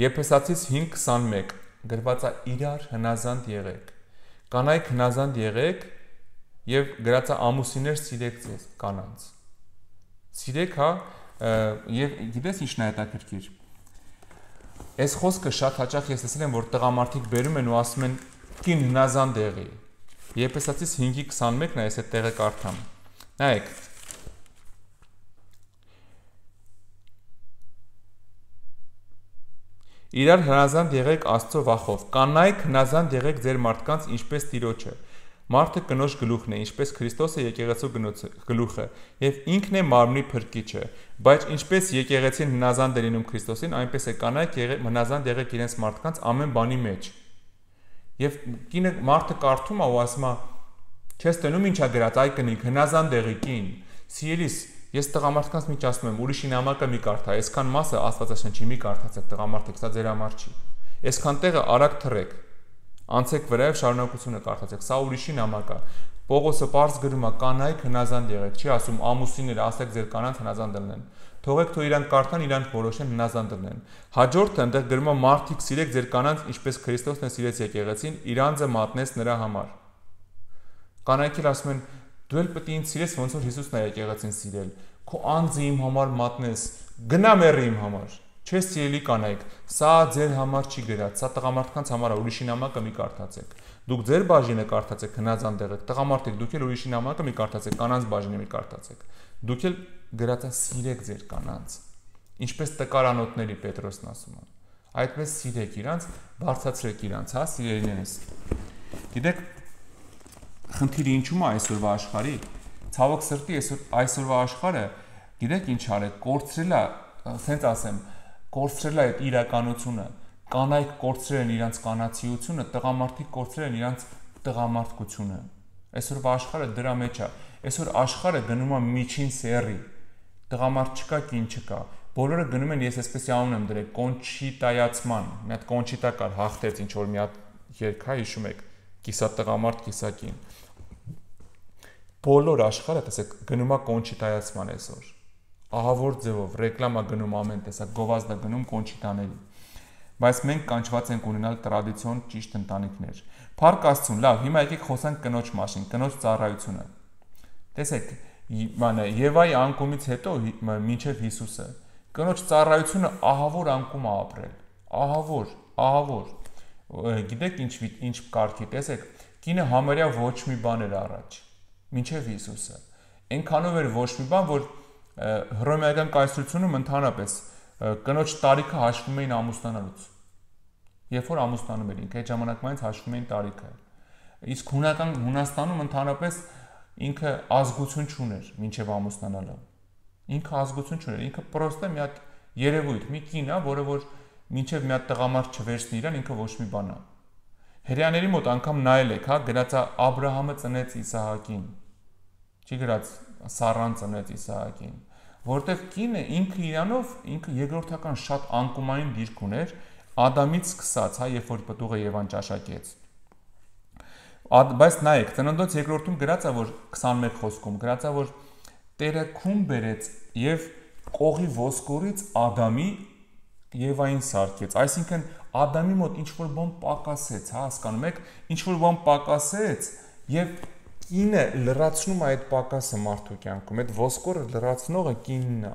Եփեսացիս 5:21 գրված է իրար հնազանդ եղեք։ Կանայք հնազանդ եղեք եւ գրած է ամուսիններ սիրեք ձեզ կանանց։ Սիրեք, հա, եւ գիտես ինչն է հետաքրքիր։ Այս խոսքը շատ հաճախ ես տեսել եմ, որ տղամարդիկ բերում են ու ասում են կին հնազանդ եղի։ Եփեսացիս 5:21-ն է, ես այդ տեղը կարդամ։ Նայեք։ Իրար հնազանդ եղեք Աստծո վախով։ Կանայք հնազանդ եղեք ձեր մարդկանց, ինչպես Տիրոջը։ Մարդը կնոջ գլուխն է, ինչպես Քրիստոսը եկեղեցու գլուխը, եւ ինքն է մարմնի փրկիչը։ Բայց ինչպես եկեղեցին հնազանդ է լինում Քրիստոսին, այնպես է կանայք հնազանդ եղեք իրենց մարդկանց ամեն բանի մեջ։ Եվ կինը մարդը կարդում է ու ասում է. «Չես տենում ինչա գրած, այ կնիկ, հնազանդ եղի կին»։ Սիրելիս, ես տղամարդկանց միջ ասում եմ, ուրիշի նամակը մի կարդա, այսքան մասը Աստվածաշնչի մի կարդացեք տղամարդիկ, սա ձեր համար չի։ Այսքան տեղը արագ թռեք։ Անցեք վրայով շարունակությունը կարդացեք, սա ուրիշի նամակ է։ Պողոսը պարզ գրում է կանայք հնազանդ եղեք, չի ասում ամուսիններ ասեք ձեր կանանց հնազանդ լինեն։ Թողեք թող իրանք կարդան, իրանք որոշեն հնազանդ լինեն։ Հաջորդը այնտեղ գրում է մարդիկ սիրեք ձեր կանանց, ինչպես Քրիստոսն է սիրեց եկեղեցին, իր անձը մատնեց նրա համար։ Կանայք էլ ասում են դու էլ պետք է ինձ սիրես, ոնց որ Հիսուսն է եկեղեցին սիրել։ քո անձը իմ համար մատնես, գնա մեռի իմ համար։ Չես սիրելի կանայք, սա ձեր համար չի գրած, սա տղամարդկանց համար է, ուրիշի նամակը մի կարդացեք։ Դուք ձեր բաժինը կարդացեք, հնազանդ եղեք, տղամարդիկ, դուք էլ ուրիշի նամակը մի կարդացեք, կանանց բաժինը մի կարդացեք։ Դուք էլ գրածա սիրեք ձեր կանանց։ Ինչպես տկարանոտների Պետրոսն ասում է։ Այդպես սիրեք իրանց, բարձրացրեք իրանց, հա, սիրելիներս։ Գիտեք, խնդիրը ինչու՞մ է այսօրվա աշխարհի։ Ցավոք սրտի այսօրվա աշխարհը, գիտեք ինչ արել, կորցրել է, ասենց ասեմ, կորցրել է այդ իրականությունը, կանայք կորցրել են իրանց կանացիությունը, տղամարդիկ կորցրել են իրանց տղամարդկությունը։ Այսօրվա աշխարհը դրա մեջ է։ Այսօր աշխարհը գնում է միջին սերի։ Տղամարդ չկա, կին չկա։ Բոլորը գնում են, ես այսպես անուն եմ դրել, կոնչիտայացման։ Մի հատ կոնչիտա կար, հաղթեց ինչ որ մի հատ երգ, հա, հիշում եք, կիսա տղամարդ, կիսա կին։ Բոլոր աշխարհը, տեսեք, գնում է կոնչիտայացման այսօր։ Ահավոր ձևով ռեկլամա գնում ամեն տեսակ, գովազդա գնում կոնչիտաների։ Բայց մենք կանչված ենք ունենալ տրադիցիոն ճիշտ ընտանիքներ։ Փառք Աստծուն, լավ, հիմա եկեք խոսանք կնոջ մասին, կնոջ ծառայությունը։ Տեսեք, Եվայի անկումից հետո մինչև Հիսուսը կնոջ ծառայությունը ահավոր անկում է ապրել։ Ահավոր։ Գիտեք ինչ կարգի, տեսեք, կինը համարյա ոչ մի բան էր առաջ, մինչև Հիսուսը։ Այնքանով էր ոչ մի բան, որ հռոմեական կայսրությունում ընդհանրապես կնոջ տարիքը հաշվում էին ամուսնանալուց։ Երբ որ ամուսնանում էր ինքը, այդ ժամանակվանից հաշվում էին տարիքը։ Իսկ Հունաստանում ընդհանրապես ինքը ազգություն չուներ մինչև ամուսնանալը։ Ինքը ազգություն չուներ, ինքը պրոստը մի հատ երևույթ, մի կին է, որը որ մինչև մի հատ տղամարդ չվերցնի իրան, ինքը ոչ մի բան է։ Հրեաների մոտ անգամ նայել եք, հա, գրած է Աբրահամը ծնեց Իսահակին։ Չի գրած Սառան ծնեց Իսահակին, որտեղ կինը ինքը իրանով, ինքը երկրորդական շատ անկումային դիրք ուներ, Ադամից սկսած, հա, երբ որ պտուղը Եվան ճաշակեց։ Բայց նայեք, Ծննդոց երկրորդում գրած է, որ 21 խոսքում գրած է, որ Տերը քուն բերեց եւ կողի ոսկորից Ադամի Եվային սարքեց, այսինքն Ադամի մոտ ինչ որ բան պակասեց, հա, հասկանում եք, ինչ որ բան պակասեց եւ կինը լրացնում է այդ պակասը մարդու կյանքում, այդ ոսկորը լրացնողը կինն է։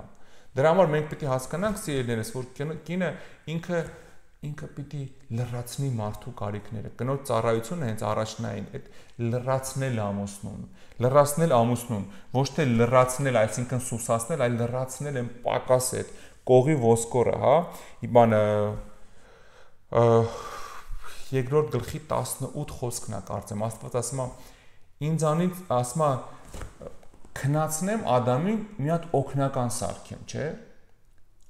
Դրա համար մենք պետք է հասկանանք, սիրելիներս, որ կինը ինքը պիտի լրացնի մարդու կարիքները։ Կնոջ ծառայությունը հենց առաջնային այդ լրացնել ամուսնուն, ոչ թե լրացնել, այսինքն սուսացնել, այլ լրացնել են պակասը, այդ կողի ոսկորը, հա։ Բանը երկրորդ գլխի 18 խոսքն է կարծեմ, Աստված ասում է ինձանից ասում է քնացնեմ Ադամին մի հատ օգնական սարքեմ, չէ՞։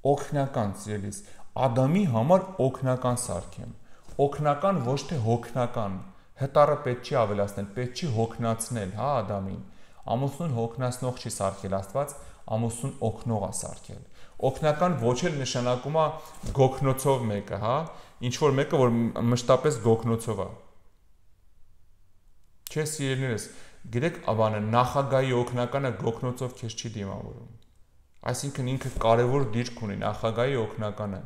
Օգնական, սիրելիս, Ադամի համար օգնական սարքեմ։ Օգնական ոչ թե հոգնական։ Հտառը պետք չի ավելացնել, պետք չի հոգնացնել, հա, Ադամին։ Ամուսնուն հոգնացնող չի սարքել Աստված, ամուսնուն օգնող է սարքել։ Օգնական ոչ էլ նշանակում է գոքնոցով մեկը, հա, ինչ որ մեկը, որ մշտապես գոքնոցով է։ Չէ, սիրելիներս, գիտեք, բանը նախագահի օգնականը գոքնոցով քեզ չի դիմավորում։ Այսինքն ինքը կարևոր դիրք ունի նախագահի օգնականը։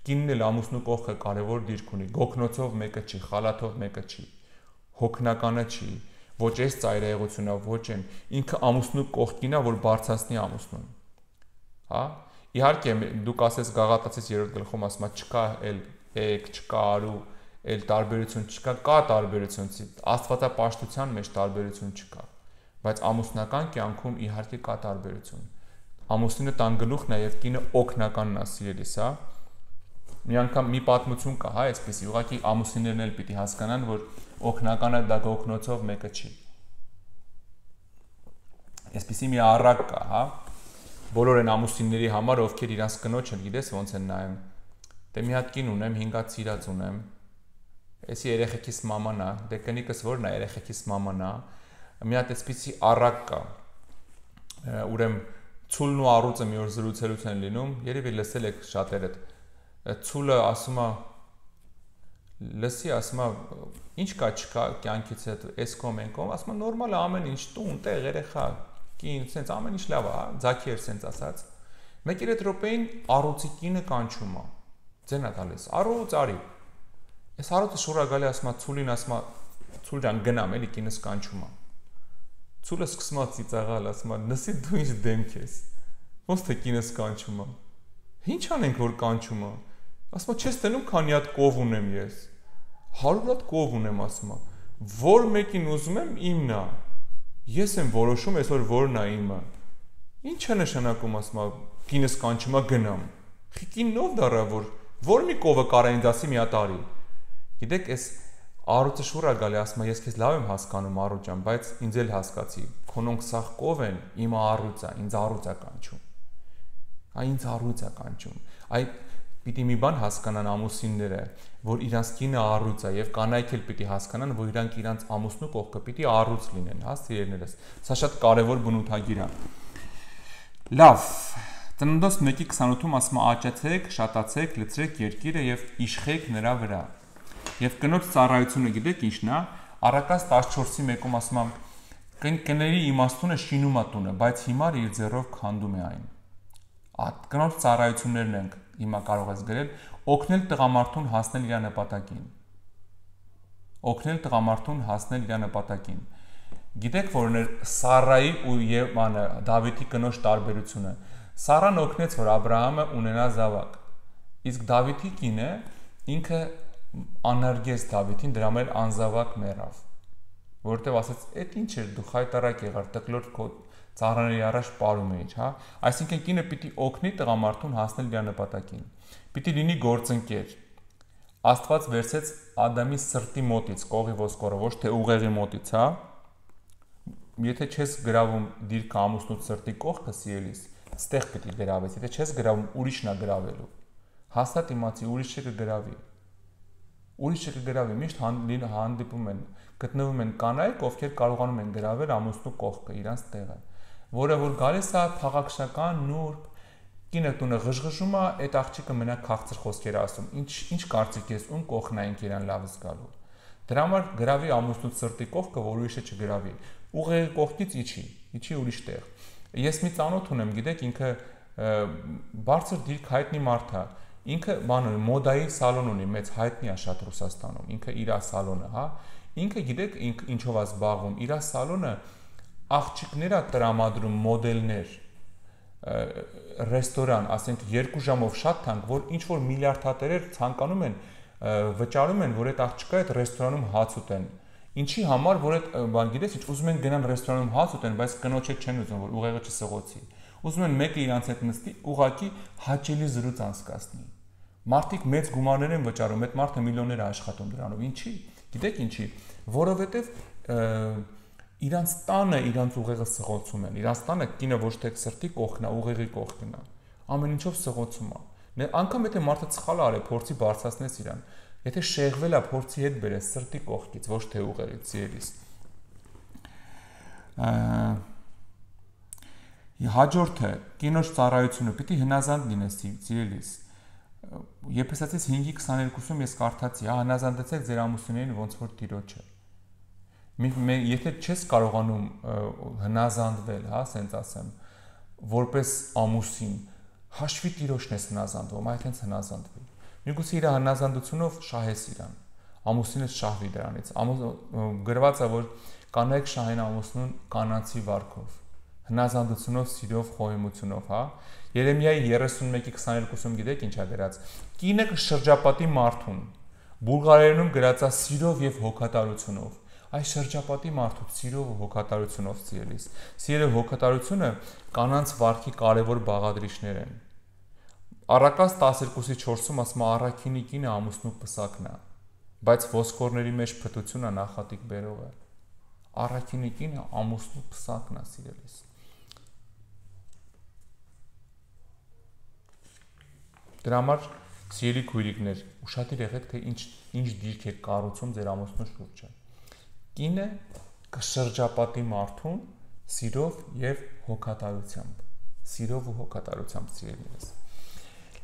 Կինն էլ ամուսնու կողքը կարևոր դիրք ունի։ Գոքնոցով մեկը չի, խալաթով մեկը չի, հոգնականը չի, ոչ այս ծայրահեղությունա, ոչ այն։ Ինքը ամուսնու կողքին է, որ բարձրացնի ամուսնուն։ Հա։ Իհարկե, դուք ասես Գաղատացիս 3-րդ գլխում ասում է չկա էլ եկ, չկա արու, էլ տարբերություն չկա, կա տարբերություն, աստվածապաշտության մեջ տարբերություն չկա, բայց ամուսնական կյանքում իհարկե կա տարբերություն։ Ամուսինը տան գլուխն է եւ կինը օգնականն է, սիրելիս, հա։ Մի անգամ մի պատմություն կա, հա, այսպեսի, ուղղակի ամուսիններն էլ պիտի հասկանան, որ օգնականը դա գոքնոցով մեկը չի։ Այսպեսի մի առակ կա, հա։ Բոլոր այն ամուսինների համար, ովքեր իրանց կնոջը, գիտես ոնց են նայում։ Դե մի հատ կին ունեմ, 5 հատ սիրած ունեմ։ Էսի երեխեքիս մաման է, դե կնիկս որն է, երեխեքիս մաման է։ Մի հատ այսպեսի առակ կա։ Ուրեմն Ցուլն ու առուծը մի օր զրուցելուց են լինում, երևի լսել եք շատերդ։ Ցուլը ասում է, լսի, ասում է, ինչ կա չկա կյանքից հետո, էս կոմ են կոմ, ասում է նորմալ է ամեն ինչ, տուն, տեղ, երեխա, կին, սենց ամեն ինչ լավ է, ձաքի էր սենց ասած։ Մեկ երեկ րոպեին առուծի կինը կանչում է։ Ձեն է տալիս, առուծ արի։ Այս առուծը շուրա գալի ասում է Ցուլին, ասում է, Ցուլ ջան գնամ, էլի կինս կանչում է։ Ցուլը սկսում է ծիծաղալ, ասում է, լսի դու ինչ դեմք ես։ Ոնց թե կինս կանչում է։ Ինչ անենք որ կանչում է։ Ասում է, չես տենում քանի հատ կով ունեմ ես։ 100 հատ կով ունեմ ասում է։ Որ մեկին ուզում եմ իմն է։ Ես եմ որոշում այսօր որն է իմը։ Ինչ է նշանակում ասում է, կինս կանչում է գնամ։ Կինն ով դառա որ մի կովը կարա ինձ ասի մի հատ արի։ Գիտեք, այս Արուծը շուռա գալի ասում է, ես քեզ լավ եմ հասկանում Արուծ ջան, բայց ինձ էլ հասկացի, քոնոնք սաղ կով են, իմը Արուծ է, ինձ Արուծ է կանչում։ Այ ինձ Արուծ է կանչում։ Այ պիտի մի բան հասկանան ամուսինները, որ իրանց կինը Արուծ է, եւ կանայք էլ պիտի հասկանան, որ իրանք իրանց ամուսնու կողքը պիտի Արուծ լինեն, հա, սիրելիներս։ Սա շատ կարևոր բնութագիր է։ Լավ, Ծննդոց 1:28-ում ասում է աճեցեք, շատացեք, լցրեք երկիրը եւ իշխեք նրա վրա։ Եվ կնոջ ծառայությունը գիտեք ինչն է, Առակաց 14:1-ում ասում է կների իմաստունը շինում է տունը, բայց հիմար իր ձեռով քանդում է այն։ Կնոջ ծառայություններն ենք հիմա կարող ես գրել, օգնել տղամարդուն հասնել իր նպատակին։ Օգնել տղամարդուն հասնել իր նպատակին։ Գիտեք որն էր Սարայի ու Եվանը Դավիթի կնոջ տարբերությունը։ Սարան օգնեց, որ Աբ รา համը ունենա զավակ։ Իսկ Դավիթի կինը ինքը անարգեց Դավիթին, դրա համար անզավակ մեռավ։ Որտեւ ասաց, «Էդ ինչ էր դու խայտարակ եղար, տկլոր քո ծառաների առաջ պարում էիր, հա»։ Այսինքն կինը պիտի օգնի տղամարդուն հասնել իր նպատակին։ Պիտի լինի գործընկեր։ Աստված վերցեց Ադամի սրտի մոտից, կողի ոսկորը, ոչ թե ուղեղի մոտից, հա։ Եթե չես գրավում դիրքը ամուսնուց սրտի կողքը սիրելիս, ստեղ պիտի գրավես, եթե չես գրավում ուրիշն է գրավելու։ Հաստատ իմացի ուրիշը կգրավի։ Ուրիշը կգրավի, միշտ հանդիպում են, գտնվում են կանայք, ովքեր կարողանում են գրավել ամուսնու կողքը, իրանց տեղը, որը որ գալիս է փաղաքշական, նուրբ, կինը տունը ղժղժում է, այդ աղջիկը մենակ քաղցր խոսքեր ասում։ Ինչ կարծիք ես, ում կողքն այնք իրան լավ զգալու։ Դրա համար գրավի ամուսնուց սրտի կողքը, որ ուրիշը չգրավի։ Ուղեղի կողքից իջի ուրիշ տեղ։ Ես մի ծանոթ ունեմ, գիտեք, ինքը բարձր դիրք հայտնի մարդ է։ Ինքը բան ունի, մոդայի սալոն ունի, մեծ հայտնի է շատ Ռուսաստանում։ Ինքը իր սալոնը, հա։ Ինքը գիտեք ինչով է զբաղվում։ Իր սալոնը աղջիկներ է տրամադրում, մոդելներ, ռեստորան, ասենք 2 ժամով շատ թանկ, որ ինչ որ միլիարդատերեր ցանկանում են վճարում են, որ այդ աղջիկը այդ ռեստորանում հաց ուտեն։ Ինչի համար, որ այդ բան գիտես, ինչ ուզում են գնան ռեստորանում հաց ուտեն, բայց կնոջը չեն ուզում, որ ուղեղը չսղոցի։ Ուզում են մեկը իրանց հետ նստի, ուղակի հաճելի զրույց անցկացնի։ Մարդիկ մեծ գումարներ են վճարում, այդ մարդը միլիոններ է աշխատում դրանով։ Ինչի։ Գիտեք ինչի, որովհետև իրանց տանը իրանց ուղեղը սղոցում են։ Իրանց տանը կինը ոչ թե սրտի կողքն է, ուղեղի կողքն է։ Ամեն ինչով սղոցում է։ Անկամ եթե մարդը սխալ արի, փորձի բարձրացնես իրան։ Եթե շեղվել է, փորձի հետ բերես սրտի կողքից, ոչ թե ուղեղից, սիրելիս։ Հաջորդը կինոջ ծառայությունը պիտի հնազանդ լինես, սիրելիս։ Եփեսացիս 5:22-ում ես կարդացի, հա, հնազանդեցեք ձեր ամուսիններին ոնց որ Տիրոջը։ Եթե չես կարողանում հնազանդվել, հա, ասենց ասեմ, որպես ամուսին, հաշվի Տիրոջն ես հնազանդվում, այդ հենց հնազանդվի։ Միգուցե իր հնազանդությունով շահես իրան, ամուսինը շահվի դրանից։ Գրված է, որ կանայք շահեն ամուսնուն կանացի վարքով, հնազանդությունով, սիրով, խոհեմությունով, հա։ Երեմիայի 31:22-ում գիտեք ինչ է գրած։ Կինը կշրջապատի մարդուն, բուլղարերենում գրած է սիրով եւ հոգատարությունով։ Այս շրջապատի մարդու սիրով ու հոգատարությունով, սիրելիս։ Սիրո հոգատարությունը կանանց վարքի կարևոր բաղադրիչներ են։ Առակաց 12:4-ում ասում է առաքինի կինը ամուսնու պսակն է, բայց ոսկորների մեջ փթություն է նախատիկ բերողը։ Առաքինի կինը ամուսնու պսակն է, սիրելիս։ Դրա համար սիրելի քույրիկներ, ուշադիր եղեք, թե ինչ դիրք է կառուցում ձեր ամուսնու շուրջը։ Կինը կշրջապատի մարդուն սիրով եւ հոգատարությամբ։ Սիրով ու հոգատարությամբ, սիրելիներս։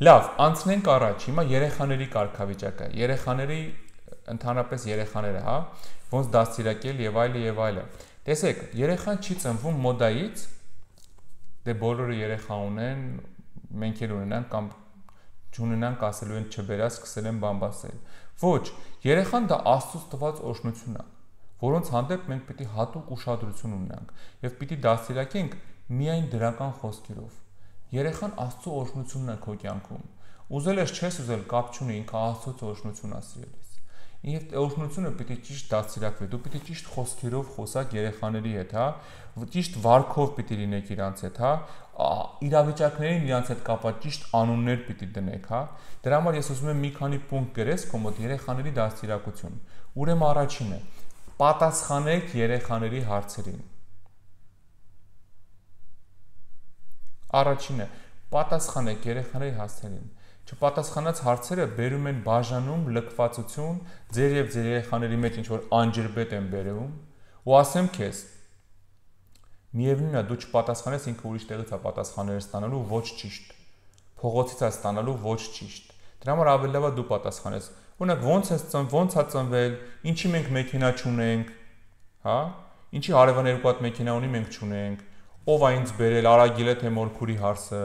Լավ, անցնենք առաջ։ Հիմա երեխաների կարգավիճակը։ Երեխաների ընդհանրապես երեխաները, հա, ոնց դաստիարակել եւ այլը եւ այլը։ Տեսեք, երեխան չի ծնվում մոդայից, դե բոլորը երեխա ունեն, մենք էլ ունենանք կամ չունենանք, ասելու են չբերա, սկսել են բամբասել։ Ոչ, երեխան դա Աստծուց տված օրհնություն է, որոնց հանդեպ մենք պիտի հատուկ ուշադրություն ունենանք եւ պիտի դաստիարակենք միայն դրական խոսքերով։ Երեխան Աստծո օրհնությունն է քո կյանքում։ Ուզել ես չես ուզել կապ չունի, ինքը Աստծո օրհնությունն է սիրելիս։ Եվ օրհնությունը պիտի ճիշտ դաստիարակվի։ Դու պիտի ճիշտ խոսքերով խոսակ երեխաների հետ, հա, ճիշտ վարքով պիտի լինեք իրանց հետ, հա, իրավիճակներին իրանց հետ կապված ճիշտ անուններ պիտի դնեք, հա։ Դրա համար ես ուզում եմ մի քանի պունկտ գրես քո մոտ երեխաների դաստիարակություն։ Ուրեմն առաջինը՝ պատասխանեք երեխաների հարցերին։ Առաջինը՝ պատասխանեք երեխաների հարցերին։ Չպատասխանած հարցերը բերում են բաժանում, լքվածություն, ձեր եւ ձեր երեխաների մեջ ինչ որ անջրբետ են բերում, ու ասեմ քեզ, միևնույնն է, դու չպատասխանես, ինքը ուրիշ տեղից է պատասխաններ ստանալու ոչ ճիշտ։ Փողոցից է ստանալու ոչ ճիշտ։ Դրա համար ավելի լավ է դու պատասխանես։ Օրինակ, ոնց է ծնվել, ինչի մենք մեքենա չունենք, հա? Ինչի հարևան երկու հատ մեքենա ունի, մենք չունենք։ Ով է ինձ բերել, Արագիլ է թե Մորքուրի հարսը,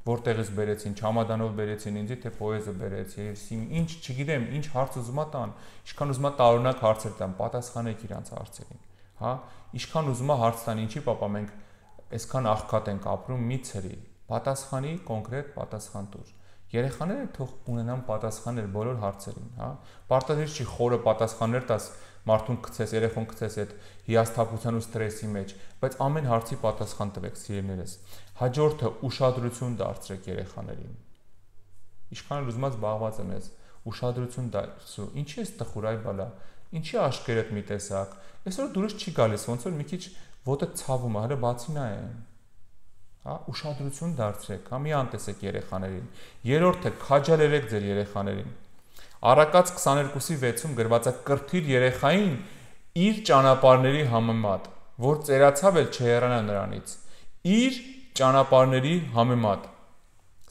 որտեղից բերեցին, Չամադանով բերեցին ինձ, թե Պոեզը բերեց, եւ ինչ, չգիտեմ, ինչ հարց ուզում ա տան, ինչքան ուզում ա տարօրինակ հարցեր տան, պատասխանեք իրանց հարցերին, հա, ինչքան ուզում ա հարց տան, ինչի պապա մենք այսքան աղքատ ենք ապրում, մի ցրի, պատասխանի կոնկրետ պատասխան տուր։ Երեխաները թող ունենան պատասխաններ բոլոր հարցերին, հա։ Պարտադիր չի խորը պատասխաններ տաս մարդուն գցես, երեխուն գցես այդ հիասթափության ու ստրեսի մեջ, բայց ամեն հարցի պատասխան տվեք, սիրելիներս։ Հաջորդը՝ ուշադրություն դարձրեք երեխաներին։ Ինչքան ուզում ես զբաղված եմ ես, ուշադրություն դարձրու։ Ինչի ես տխուր այ բալա, ինչի աշկերտ մի տեսակ։ Այսօր դուրս չի գալիս, ոնց որ մի քիչ ոտը ցավում է, հələ բացի նայեն։ Հա, ուշադրություն դարձրեք, հա, մի անտեսեք երեխաներին։ Երրորդը՝ քաջալերեք ձեր երեխաներին։ Առակաց 22:6-ում գրված է կրթիր երեխային իր ճանապարհների համեմատ, որ ծերացավ էլ չհեռանա նրանից։ Իր ճանապարհների համեմատ։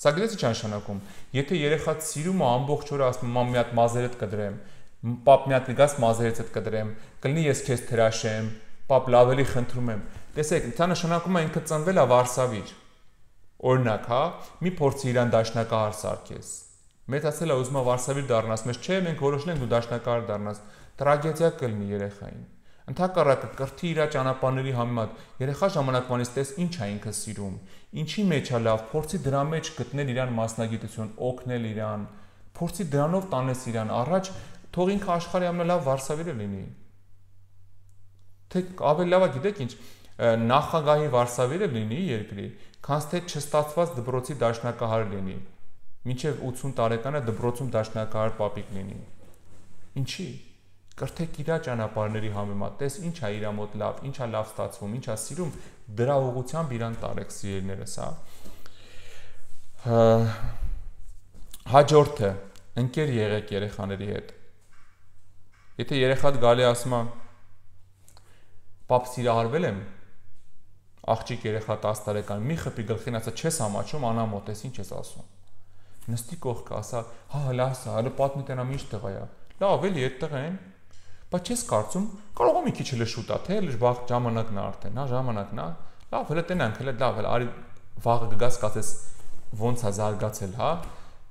Սա գիտես ինչ նշանակում։ Եթե երեխան սիրում է ամբողջ օրը ասում մամ մի հատ մազերդ կդրեմ, պապ մի հատ գաս մազերից կդրեմ, կլինի ես քեզ թրաշեմ, պապ լավ էլի խնդրում եմ։ Տեսեք, դա նշանակում է ինքը ծնվել է վարսավիր։ Օրինակ, հա, մի փորձի իրան դաշնակահար սարքես։ Մեծացել է ուզում է վարսավիր դառնաս, մեզ չէ, մենք որոշել ենք դու դաշնակահար դառնաս, տրագեդիա կլինի երեխային։ Ընդհակառակը կրթի իր ճանապարհների համեմատ, երեխա ժամանակվանից տես ինչ է ինքը սիրում, ինչի մեջ է լավ, փորձի դրա մեջ գտնել իրան մասնագիտություն, օգնել իրան, փորձի դրանով տանես իրան առաջ, թող ինքը աշխարհի ամենալավ վարսավիրը լինի։ Թե ավելի լավ է գիտեք ինչ, նախագահի վարսավիրը լինի երկրի, քան թե չստացված դպրոցի դաշնակահար լինի։ Մինչև 80 տարեկանը դպրոցում դաշնակահար պապիկ լինի։ Ինչի։ Կրթեք իր ճանապարհների համեմատ, տես ինչ է իր մոտ լավ, ինչ է լավ ստացվում, ինչ է սիրում, դրա ուղղությամբ իրան տարեք սիրելիներս, հա։ Հաջորդը՝ ընկեր եղեք երեխաների հետ։ Եթե երեխան գալի ասում է պապ սիրահարվել եմ, աղջիկ երեխա 10 տարեկան, մի խփի գլխին ասա չես ամաչում, անամոթ ես, ինչ ես ասում։ Նստի կողքը, ասա, հա, լավ, հələ պատմի տենամ ինչ տղա է։ Լավ, էլի այդտեղ են։ Բայց չես կարծում, կարող է մի քիչ էլ շուտ է, թե էլ վաղ ժամանակն է արդեն, հա, ժամանակն է։ Լավ, հələ տենանք, հələ լավ, հələ արի վաղը կգաս կասես ոնց է զարգացել, հա,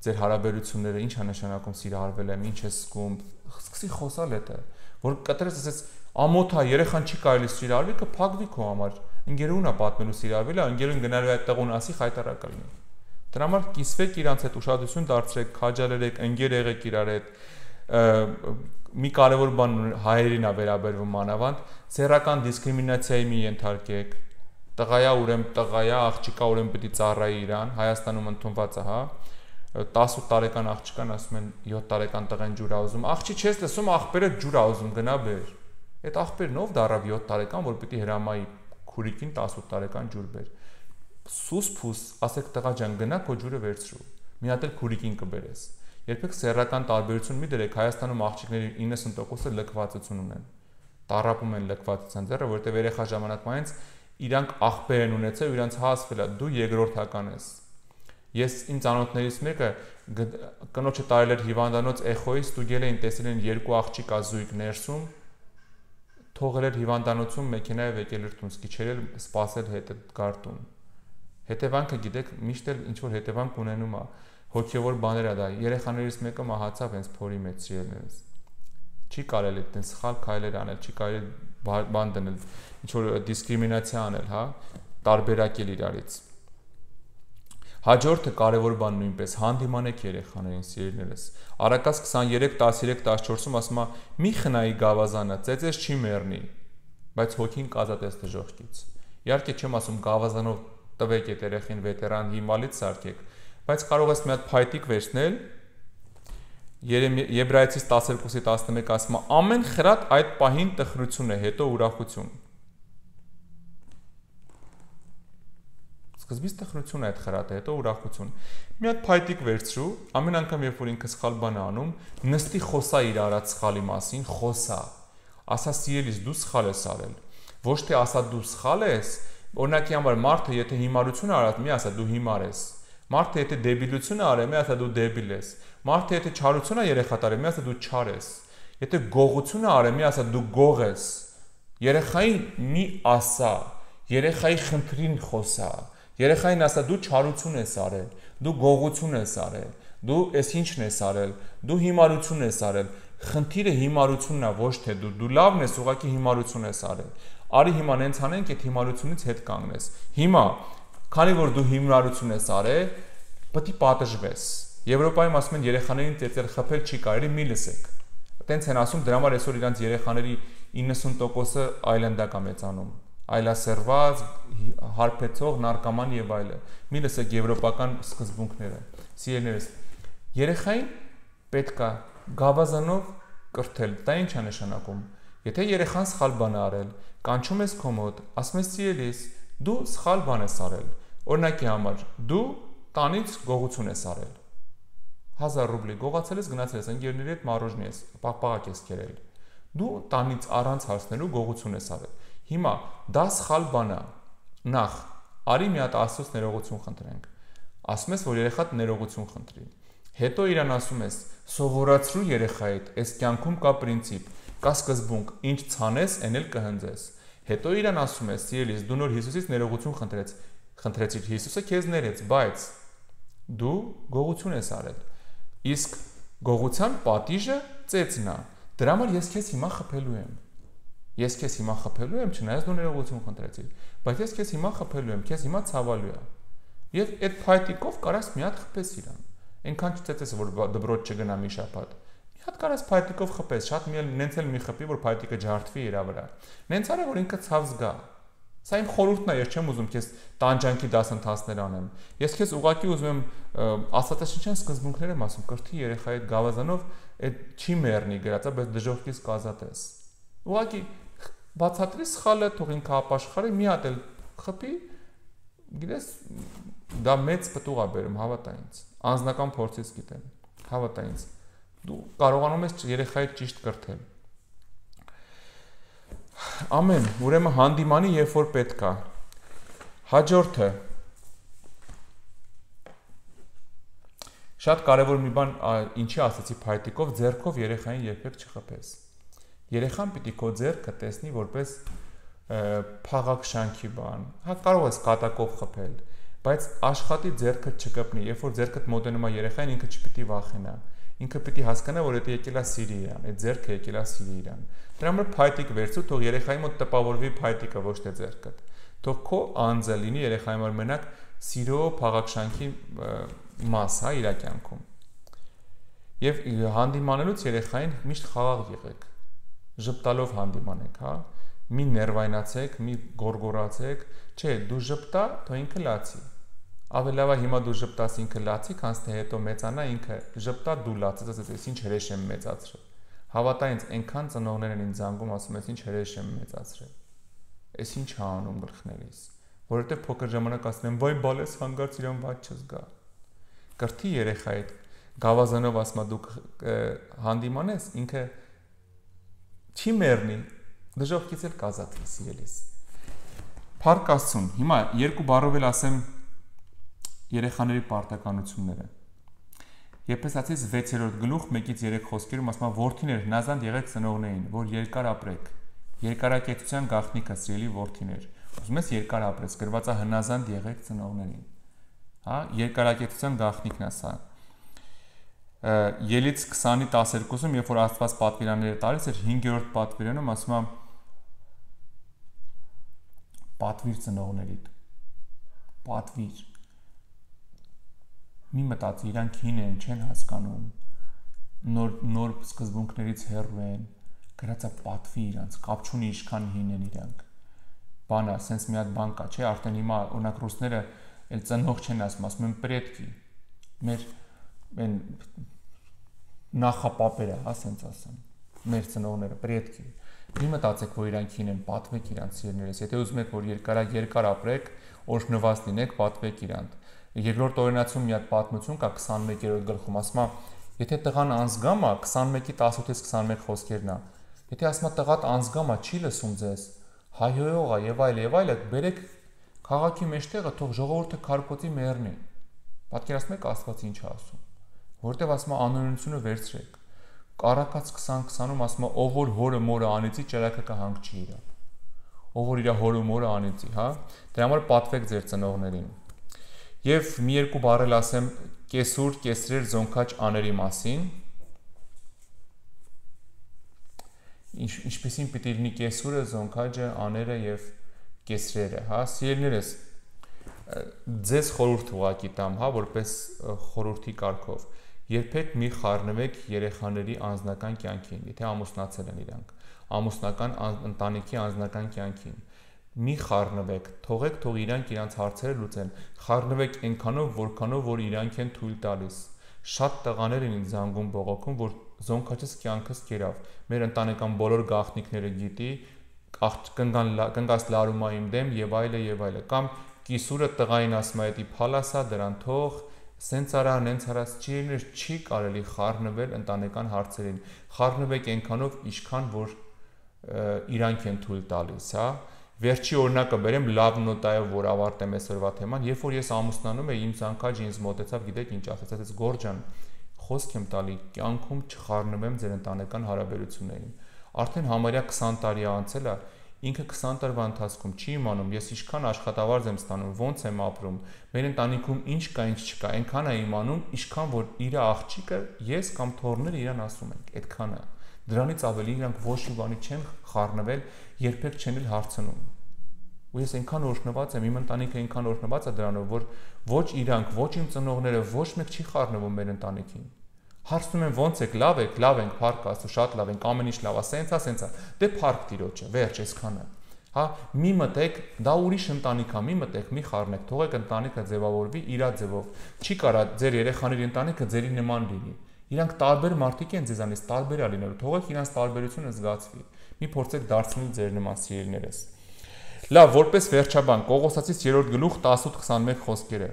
ձեր հարաբերությունները, ինչ է նշանակում սիրահարվել եմ, ինչ ես զգում, սկսի խոսալ էտը, որ կտրես ասես ամոթ է, երեխան չի կարելի սիրահարվել, կփակվի քո համար։ Ընկերուհուն է պատմելու սիրահարվել, ընկերուհուն գնալու է այդտեղ ու ասի խայտարակա լինի։ Դրա համար կիսվեք իրանց հետ, ուշադրություն դարձրեք, քաջալերեք, ընկեր եղեք իրար հետ։ Մի կարևոր բան հայերին է վերաբերվում մանավանդ, սեռական դիսկրիմինացիայի մի ենթարկեք։ Տղայա ուրեմն տղայա, աղջիկա ուրեմն պիտի ծառայի իրան, Հայաստանում ընդունված է, հա։ 18 տարեկան աղջկան ասում են 7 տարեկան տղեն ջուր ա ուզում։ Աղջի չես լսում, աղբերը ջուր ա ուզում, գնա բեր։ Այդ աղբերն ով դարավ 7 տարեկան, որ պիտի հրամայի քուրիկին 18 տարեկան ջուր բեր։ Սուս փուս, ասեք տղա ջան, գնա քո ջուրը վերցրու։ Մի հատ էլ քուրիկին կբերես։ Երբեք սեռական տարբերություն մի դրեք, Հայաստանում աղջիկների 90%-ը լքվածություն ունեն։ Տառապում են լքվածության ձեռը, որովհետև երեխա ժամանակվանից իրանք աղբեր են ունեցել, իրանք հասվել է, դու երկրորդական ես։ Ես իմ ծանոթներից մեկը կնոջը տարել էր հիվանդանոց էխոյից, ստուգել էին, տեսել են երկու աղջիկ ազույգ ներսում, թողել էր հիվանդանոցում մեքենայով եկել էր տուն, սկիչել էր սպասել հետը գարտուն։ Հետևանքը գիտեք, միշտ էլ ինչ որ հետևանք ունենում է, հոգևոր բաներ է դա։ Երեխաներից մեկը մահացավ հենց փորի մեջ սիրելիներս։ Չի կարելի այդտեն սխալ քայլեր անել, չի կարելի բան դնել, ինչ որ դիսկրիմինացիա անել, հա, տարբերակել իրարից։ Հաջորդը կարևոր բան նույնպես հանդիմանեք երեխաներին, սիրելիներս։ Առակաց 23:13-14-ում ասում է՝ մի խնայի գավազանը, ծեծես չի մեռնի, բայց հոգին կազատես դժոխքից։ Իհարկե չեմ ասում գավազանով տվեք այդ երեխին վետերան հիմալից սարքեք, բայց կարող ես մի հատ փայտիկ վերցնել, Եբրայեցիս 12:11 ասում է՝ ամեն խրատ այդ պահին տխրություն է, հետո ուրախություն։ Սկզբից տխրություն է այդ խրատը, հետո ուրախություն։ Մի հատ փայտիկ վերցրու, ամեն անգամ երբ որ ինքը սխալ բան է անում, նստի խոսա իր արած սխալի մասին, խոսա։ Ասա սիրելիս դու սխալ ես արել։ Ոչ թե ասա դու սխալ ես, օրինակի համար մարդը եթե հիմարություն արած, մի ասա դու հիմար ես։ Մարդը եթե դեբիլություն արի, մի ասա դու դեբիլ ես։ Մարդը եթե չարություն է երեխա տարի, մի ասա դու չար ես։ Եթե գողություն արի, մի ասա դու գող ես։ Երեխային մի ասա, երեխայի խնդրին խոսա։ Երեխային ասա դու չարություն ես արել, դու գողություն ես արել, դու էս ինչն ես արել, դու հիմարություն ես արել։ Խնդիրը հիմարությունն է, ոչ թե դու լավն ես, ուղղակի հիմարություն ես արել։ Արի հիմա նենց անենք, այդ հիմարությունից հետ կանգնես։ Հիմա, քանի որ դու հիմարություն ես արել, պետք է պատժվես։ Եվրոպայում ասում են երեխաներին ծեծել խփել չի կարելի, մի լսեք։ Տենց են ասում, դրա համար այսօր իրանց երեխաների 90%-ը այլանդակ է մեծանում։ Այլասերված, հարբեցող, նարկոման եւ այլը։ Մի լսեք եվրոպական սկզբունքները։ Սիրելիներս, երեխային պետքա գավազանով կրթել։ Դա ինչ է նշանակում։ Եթե երեխան սխալ բան է արել, կանչում ես քո մոտ, ասում ես սիրելիս, դու սխալ բան ես արել։ Օրինակի համար, դու տանից գողություն ես արել։ 1000 ռուբլի գողացել ես, գնացել ես ընկերների հետ մարոժնի ես, պաղպաղակ ես կերել։ Դու տանից առանց հարցնելու գողություն ես արել։ Հիմա դա սխալ բան է։ Նախ արի մի հատ Աստծոց ներողություն խնդրենք։ Ասում ես, որ երեխադ ներողություն խնդրի։ Հետո իրան ասում ես, սովորացրու երեխայիդ, այս կյանքում կա պրինցիպ, կա սկզբունք, ինչ ցանես, այն էլ կհնձես։ Հետո իրան ասում ես, սիրելիս, դու նոր Հիսուսից ներողություն խնդրեցիր, Հիսուսը քեզ ներեց, բայց դու գողություն ես արել։ Իսկ գողության պատիժը ծեծն է։ Դրա համար ես քեզ հիմա խփելու եմ։ Ես քեզ հիմա խփելու եմ, չնայած դու ներողություն խնդրեցիր, բայց ես քեզ հիմա խփելու եմ, քեզ հիմա ցավալու է։ Եվ այդ փայտիկով կարաս մի հատ խփես իրան։ Այնքան չծեծես, որ դպրոց չգնա մի շաբաթ։ Մի հատ կարաս փայտիկով խփես, շատ մի նենց էլ մի խփի, որ փայտիկը ջարդվի իր վրա։ Նենց արա, որ ինքը ցավ զգա։ Սա իմ խորհուրդն է, ես չեմ ուզում քեզ տանջանքի դասընթացներ անեմ։ Ես քեզ ուղղակի ուզում եմ աստվածաշնչյան սկզբունքներ եմ ասում, կրթի երեխայի այդ գավազանով այդ չի մեռնի գրածա, բայց դժոխքից կազատես։ Ուղղակի բացատրի սխալը, թող ինքը ապաշխարի, մի հատ էլ խփի, գիտես, դա մեծ պտուղ է բերում, հավատա ինձ։ Անձնական փորձից գիտեմ, հավատա ինձ։ Դու կարողանում ես երեխայիդ ճիշտ կրթել։ Ամեն, ուրեմն հանդիմանի, երբ որ պետք է։ Հաջորդը շատ կարևոր մի բան, ինչի ասացի փայտիկով, ձեռքով երեխային երբեք չխփես։ Երեխան պիտի քո ձեռքը տեսնի որպես փաղակ շանքի բան։ Հա կարող ես կատակով խփել, բայց աշխատի ձեռքը չկպնի, երբ որ ձեռքդ մոտենում է երեխային, ինքը չպիտի վախենա։ Ինքը պիտի հասկանա, որ դա եկել է սիրի իրան, այդ ձեռքը եկել է սիրի իրան։ Դրա համար փայտիկ վերցու, թող երեխայի մոտ տպավորվի փայտիկը, ոչ թե ձեռքդ։ Թող քո անձը լինի երեխայի համար մենակ սիրո փաղաքշանքի մաս, հա, իր կյանքում։ Եվ հանդիմանելուց երեխային միշտ խաղաղ եղեք։ Ժպտալով հանդիմանեք, հա։ Մի ներվայնացեք, մի գորգորացեք, չէ, դու ժպտա, թող ինքը լացի։ Ավելի լավ է հիմա դու ժպտաս ինքը լացի, քան թե հետո մեծանա ինքը ժպտա դու լացես, ասես ինչ հրեշ եմ մեծացրել։ Հավատա ինձ, այնքան ծնողներ են ինձ զանգում, ասում ես ինչ հրեշ եմ մեծացրել։ Էս ինչ է անում գլխներիս, որովհետև փոքր ժամանակ ասում եմ, վայ բալես հանգարց իրան ված չզգա։ Կրթի երեխայիդ, գավազանով ասма դու հանդիմանես, ինքը չի մեռնի, դժոխքից էլ կազատվի, սիրելիս։ Փառք Աստծուն։ Հիմա երկու բառով էլ ասեմ երեխաների պարտականությունները։ Եփեսացիս 6-րդ գլուխ 1-3 խոսքերում ասում է որդիներ հնազանդ եղեք ծնողներին, որ երկար ապրեք։ Երկարակեցության գաղտնիքը սիրելի որդիներ։ Ուզում ես երկար ապրես, գրված է հնազանդ եղեք ծնողներին։ Հա, երկարակեցության գաղտնիքն է սա։ Ելից 20:12-ում, երբ որ Աստված պատվիրանները տալիս էր 5-րդ պատվիրանում ասում է պատվիր ծնողներիդ։ Պատվիր։ Մի մտածի, իրանք հին են, չեն հասկանում, նոր սկզբունքներից հեռու են, գրածա պատվի իրանք, կապ չունի ինչքան հին են իրանք։ Բանա, սենց մի հատ բան կա, չէ, արդեն հիմա օրինակ ռուսները էլ ծնող չեն ասում են պրետկի։ Մեր այն նախապապերը, հա, սենց ասեմ, մեր ծնողները պրետկի։ Մի մտածեք, որ իրանք հին են, պատվեք իրանք սիրելիներս։ Եթե ուզում եք, որ երկար ապրեք, օրհնված լինեք, պատվեք իրանք։ Երկրորդ օրենացում մի հատ պատմություն կա 21-րդ գլխում, ասում է, եթե տղան անձգամ է, 21-ի 18-ից 21 խոսքերն է։ Եթե ասում է տղադ անձգամ է, չի լսում ձեզ, հայհոյող է եւ այլ, բերեք քաղաքի մեջտեղը, թող ժողովուրդը քարփոցի մեռնի։ Պատկերացնում եք Աստված ինչ է ասում։ Որտեւ ասում է անօրենությունը վերցրեք։ Կարակաց 20-20-ում ասում է ով որ հորը մորը անիծի, ճրակը կհանգչի իրա։ Ով որ իր հորը մորը անիծի, հա։ Դրա համար պատվեք ձեր ծնողներին։ Եվ մի երկու բառ էլ ասեմ կեսուր, կեսրեր, զոնքաչ աների մասին։ Ինչպեսին պիտի լինի կեսուրը, զոնքաչը, աները եւ կեսրերը, հա։ Սիրելիներս, ձեզ խորհուրդ ուղղակի տամ, հա, որպես խորհրդի կարգով։ Երբեք մի խառնվեք երեխաների անձնական կյանքին, եթե ամուսնացել են իրանք, ամուսնական ընտանիքի անձնական կյանքին։ Մի խառնվեք, թողեք, թող իրանք իրանց հարցերը լուծեն։ Խառնվեք այնքանով, որքանով որ իրանք են թույլ տալիս։ Շատ տղաներ են ինձ զանգում բողոքում, որ զոնքաչս կյանքս կերավ։ Մեր ընտանեկան բոլոր գաղտնիքները գիտի, կնգաս լարումա իմ դեմ եւ այլը, կամ կիսուրը տղային ասում է, «Էդի փալասա դրան թող, սենց արա, նենց արա», չի կարելի խառնվել ընտանեկան հարցերին։ Խառնվեք այնքանով, ինչքան որ իրանք են թույլ տալիս, հա։ Վերջի օրինակը բերեմ լավ նոտայով, որ ավարտեմ այսօրվա թեման, երբ որ ես ամուսնանում եմ, իմ զանգաճը ինձ մոտեցավ, գիտեք ինչ ասաց, ասաց Գոր ջան, խոսք եմ տալի, կյանքում չխառնվեմ ձեր ընտանեկան հարաբերություններին։ Արդեն համարյա 20 տարի անցել է, ինքը 20 տարվա ընթացքում չի իմանում, ես ինչքան աշխատավարձ եմ ստանում, ոնց եմ ապրում, մեր ընտանիքում ինչ կա, ինչ չկա, այնքան է իմանում, ինչքան որ իր աղջիկը ես կամ թոռները իրան ասում են, այդքան է։ Դրանից ավելի իրանք ոչ մի բանի չեն խառնվել, երբեք չեն էլ հարցնում։ Ու ես այնքան օրհնված եմ, իմ ընտանիքը այնքան օրհնված է դրանով, որ ոչ իրանք, ոչ իմ ծնողները, ոչ մեկ չի խառնվում մեր ընտանիքին։ Հարցնում են ոնց եք, լավ ենք, փառք Աստծո, շատ լավ ենք, ամեն ինչ լավ է, սենցա, դե փառք Տիրոջը, վերջ, այսքանը։ Հա, մի մտեք, դա ուրիշ ընտանիք է, մի մտեք, մի խառնեք, թողեք ընտանիքը ձևավորվի իր ձևով։ Չի կարա ձեր երեխաների ընտանիքը ձերի նման լինի։ Իրանք տարբեր մարդիկ են ձեզանից, տարբեր է լինելու, թողեք իրանց տարբերությունը զգացվի։ Մի փորձեք դարձնել ձեր նման սիրելիներս։ Լավ, որպես վերջաբան, Կողոսացիս 3-րդ գլուխ 18-21 խոսքերը։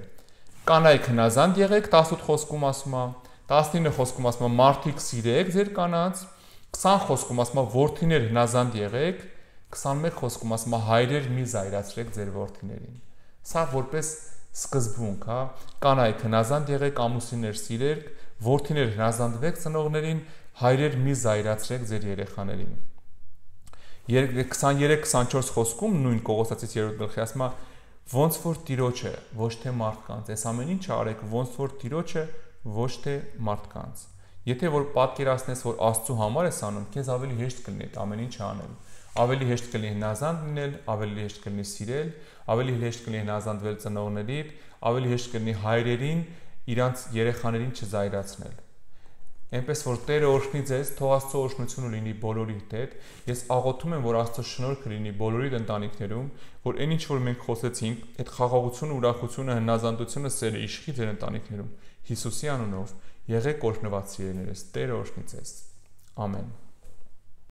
Կանայք հնազանդ եղեք, 18 խոսքում ասում է, 19 խոսքում ասում է մարդիկ սիրեք ձեր կանանց, 20 խոսքում ասում է որդիներ հնազանդ եղեք, 21 խոսքում ասում է հայրեր մի զայրացրեք ձեր որդիներին։ Սա որպես սկզբունք, հա, կանայք հնազանդ եղեք, ամուսիններ սիրեք, որդիներ հնազանդվեք ծնողներին, հայրեր մի զայրացրեք ձեր երեխաներին։ 23-24 խոսքում նույն Կողոսացիս 3-րդ գլխի ասում է ոնց որ Տիրոջը, ոչ թե մարդկանց, այս ամեն ինչը արեք ոնց որ Տիրոջը, ոչ թե մարդկանց։ Եթե որ պատկերացնես, որ Աստծո համար ես անում, քեզ ավելի հեշտ կլինի այդ ամեն ինչը անել։ Ավելի հեշտ կլինի հնազանդ լինել, ավելի հեշտ կլինի սիրել, ավելի հեշտ կլինի հնազանդվել ծնողներին, ավելի հեշտ կլինի հայրերին, իրանց երեխաներին չզայրացնել։ Այնպես որ Տերը օրհնի ձեզ, թող Աստծո օրհնությունը լինի բոլորի հետ։ Ես աղոթում եմ, որ Աստծո շնորհքը լինի բոլորի ընտանիքներում, որ այն ինչ որ մենք խոսեցինք, այդ խաղաղությունը, ուրախությունը, հնազանդությունը, սերը իշխի ձեր ընտանիքներում։ Հիսուսի անունով եղեք օրհնված սիրելիներս, Տերը օրհնի ձեզ։ Ամեն։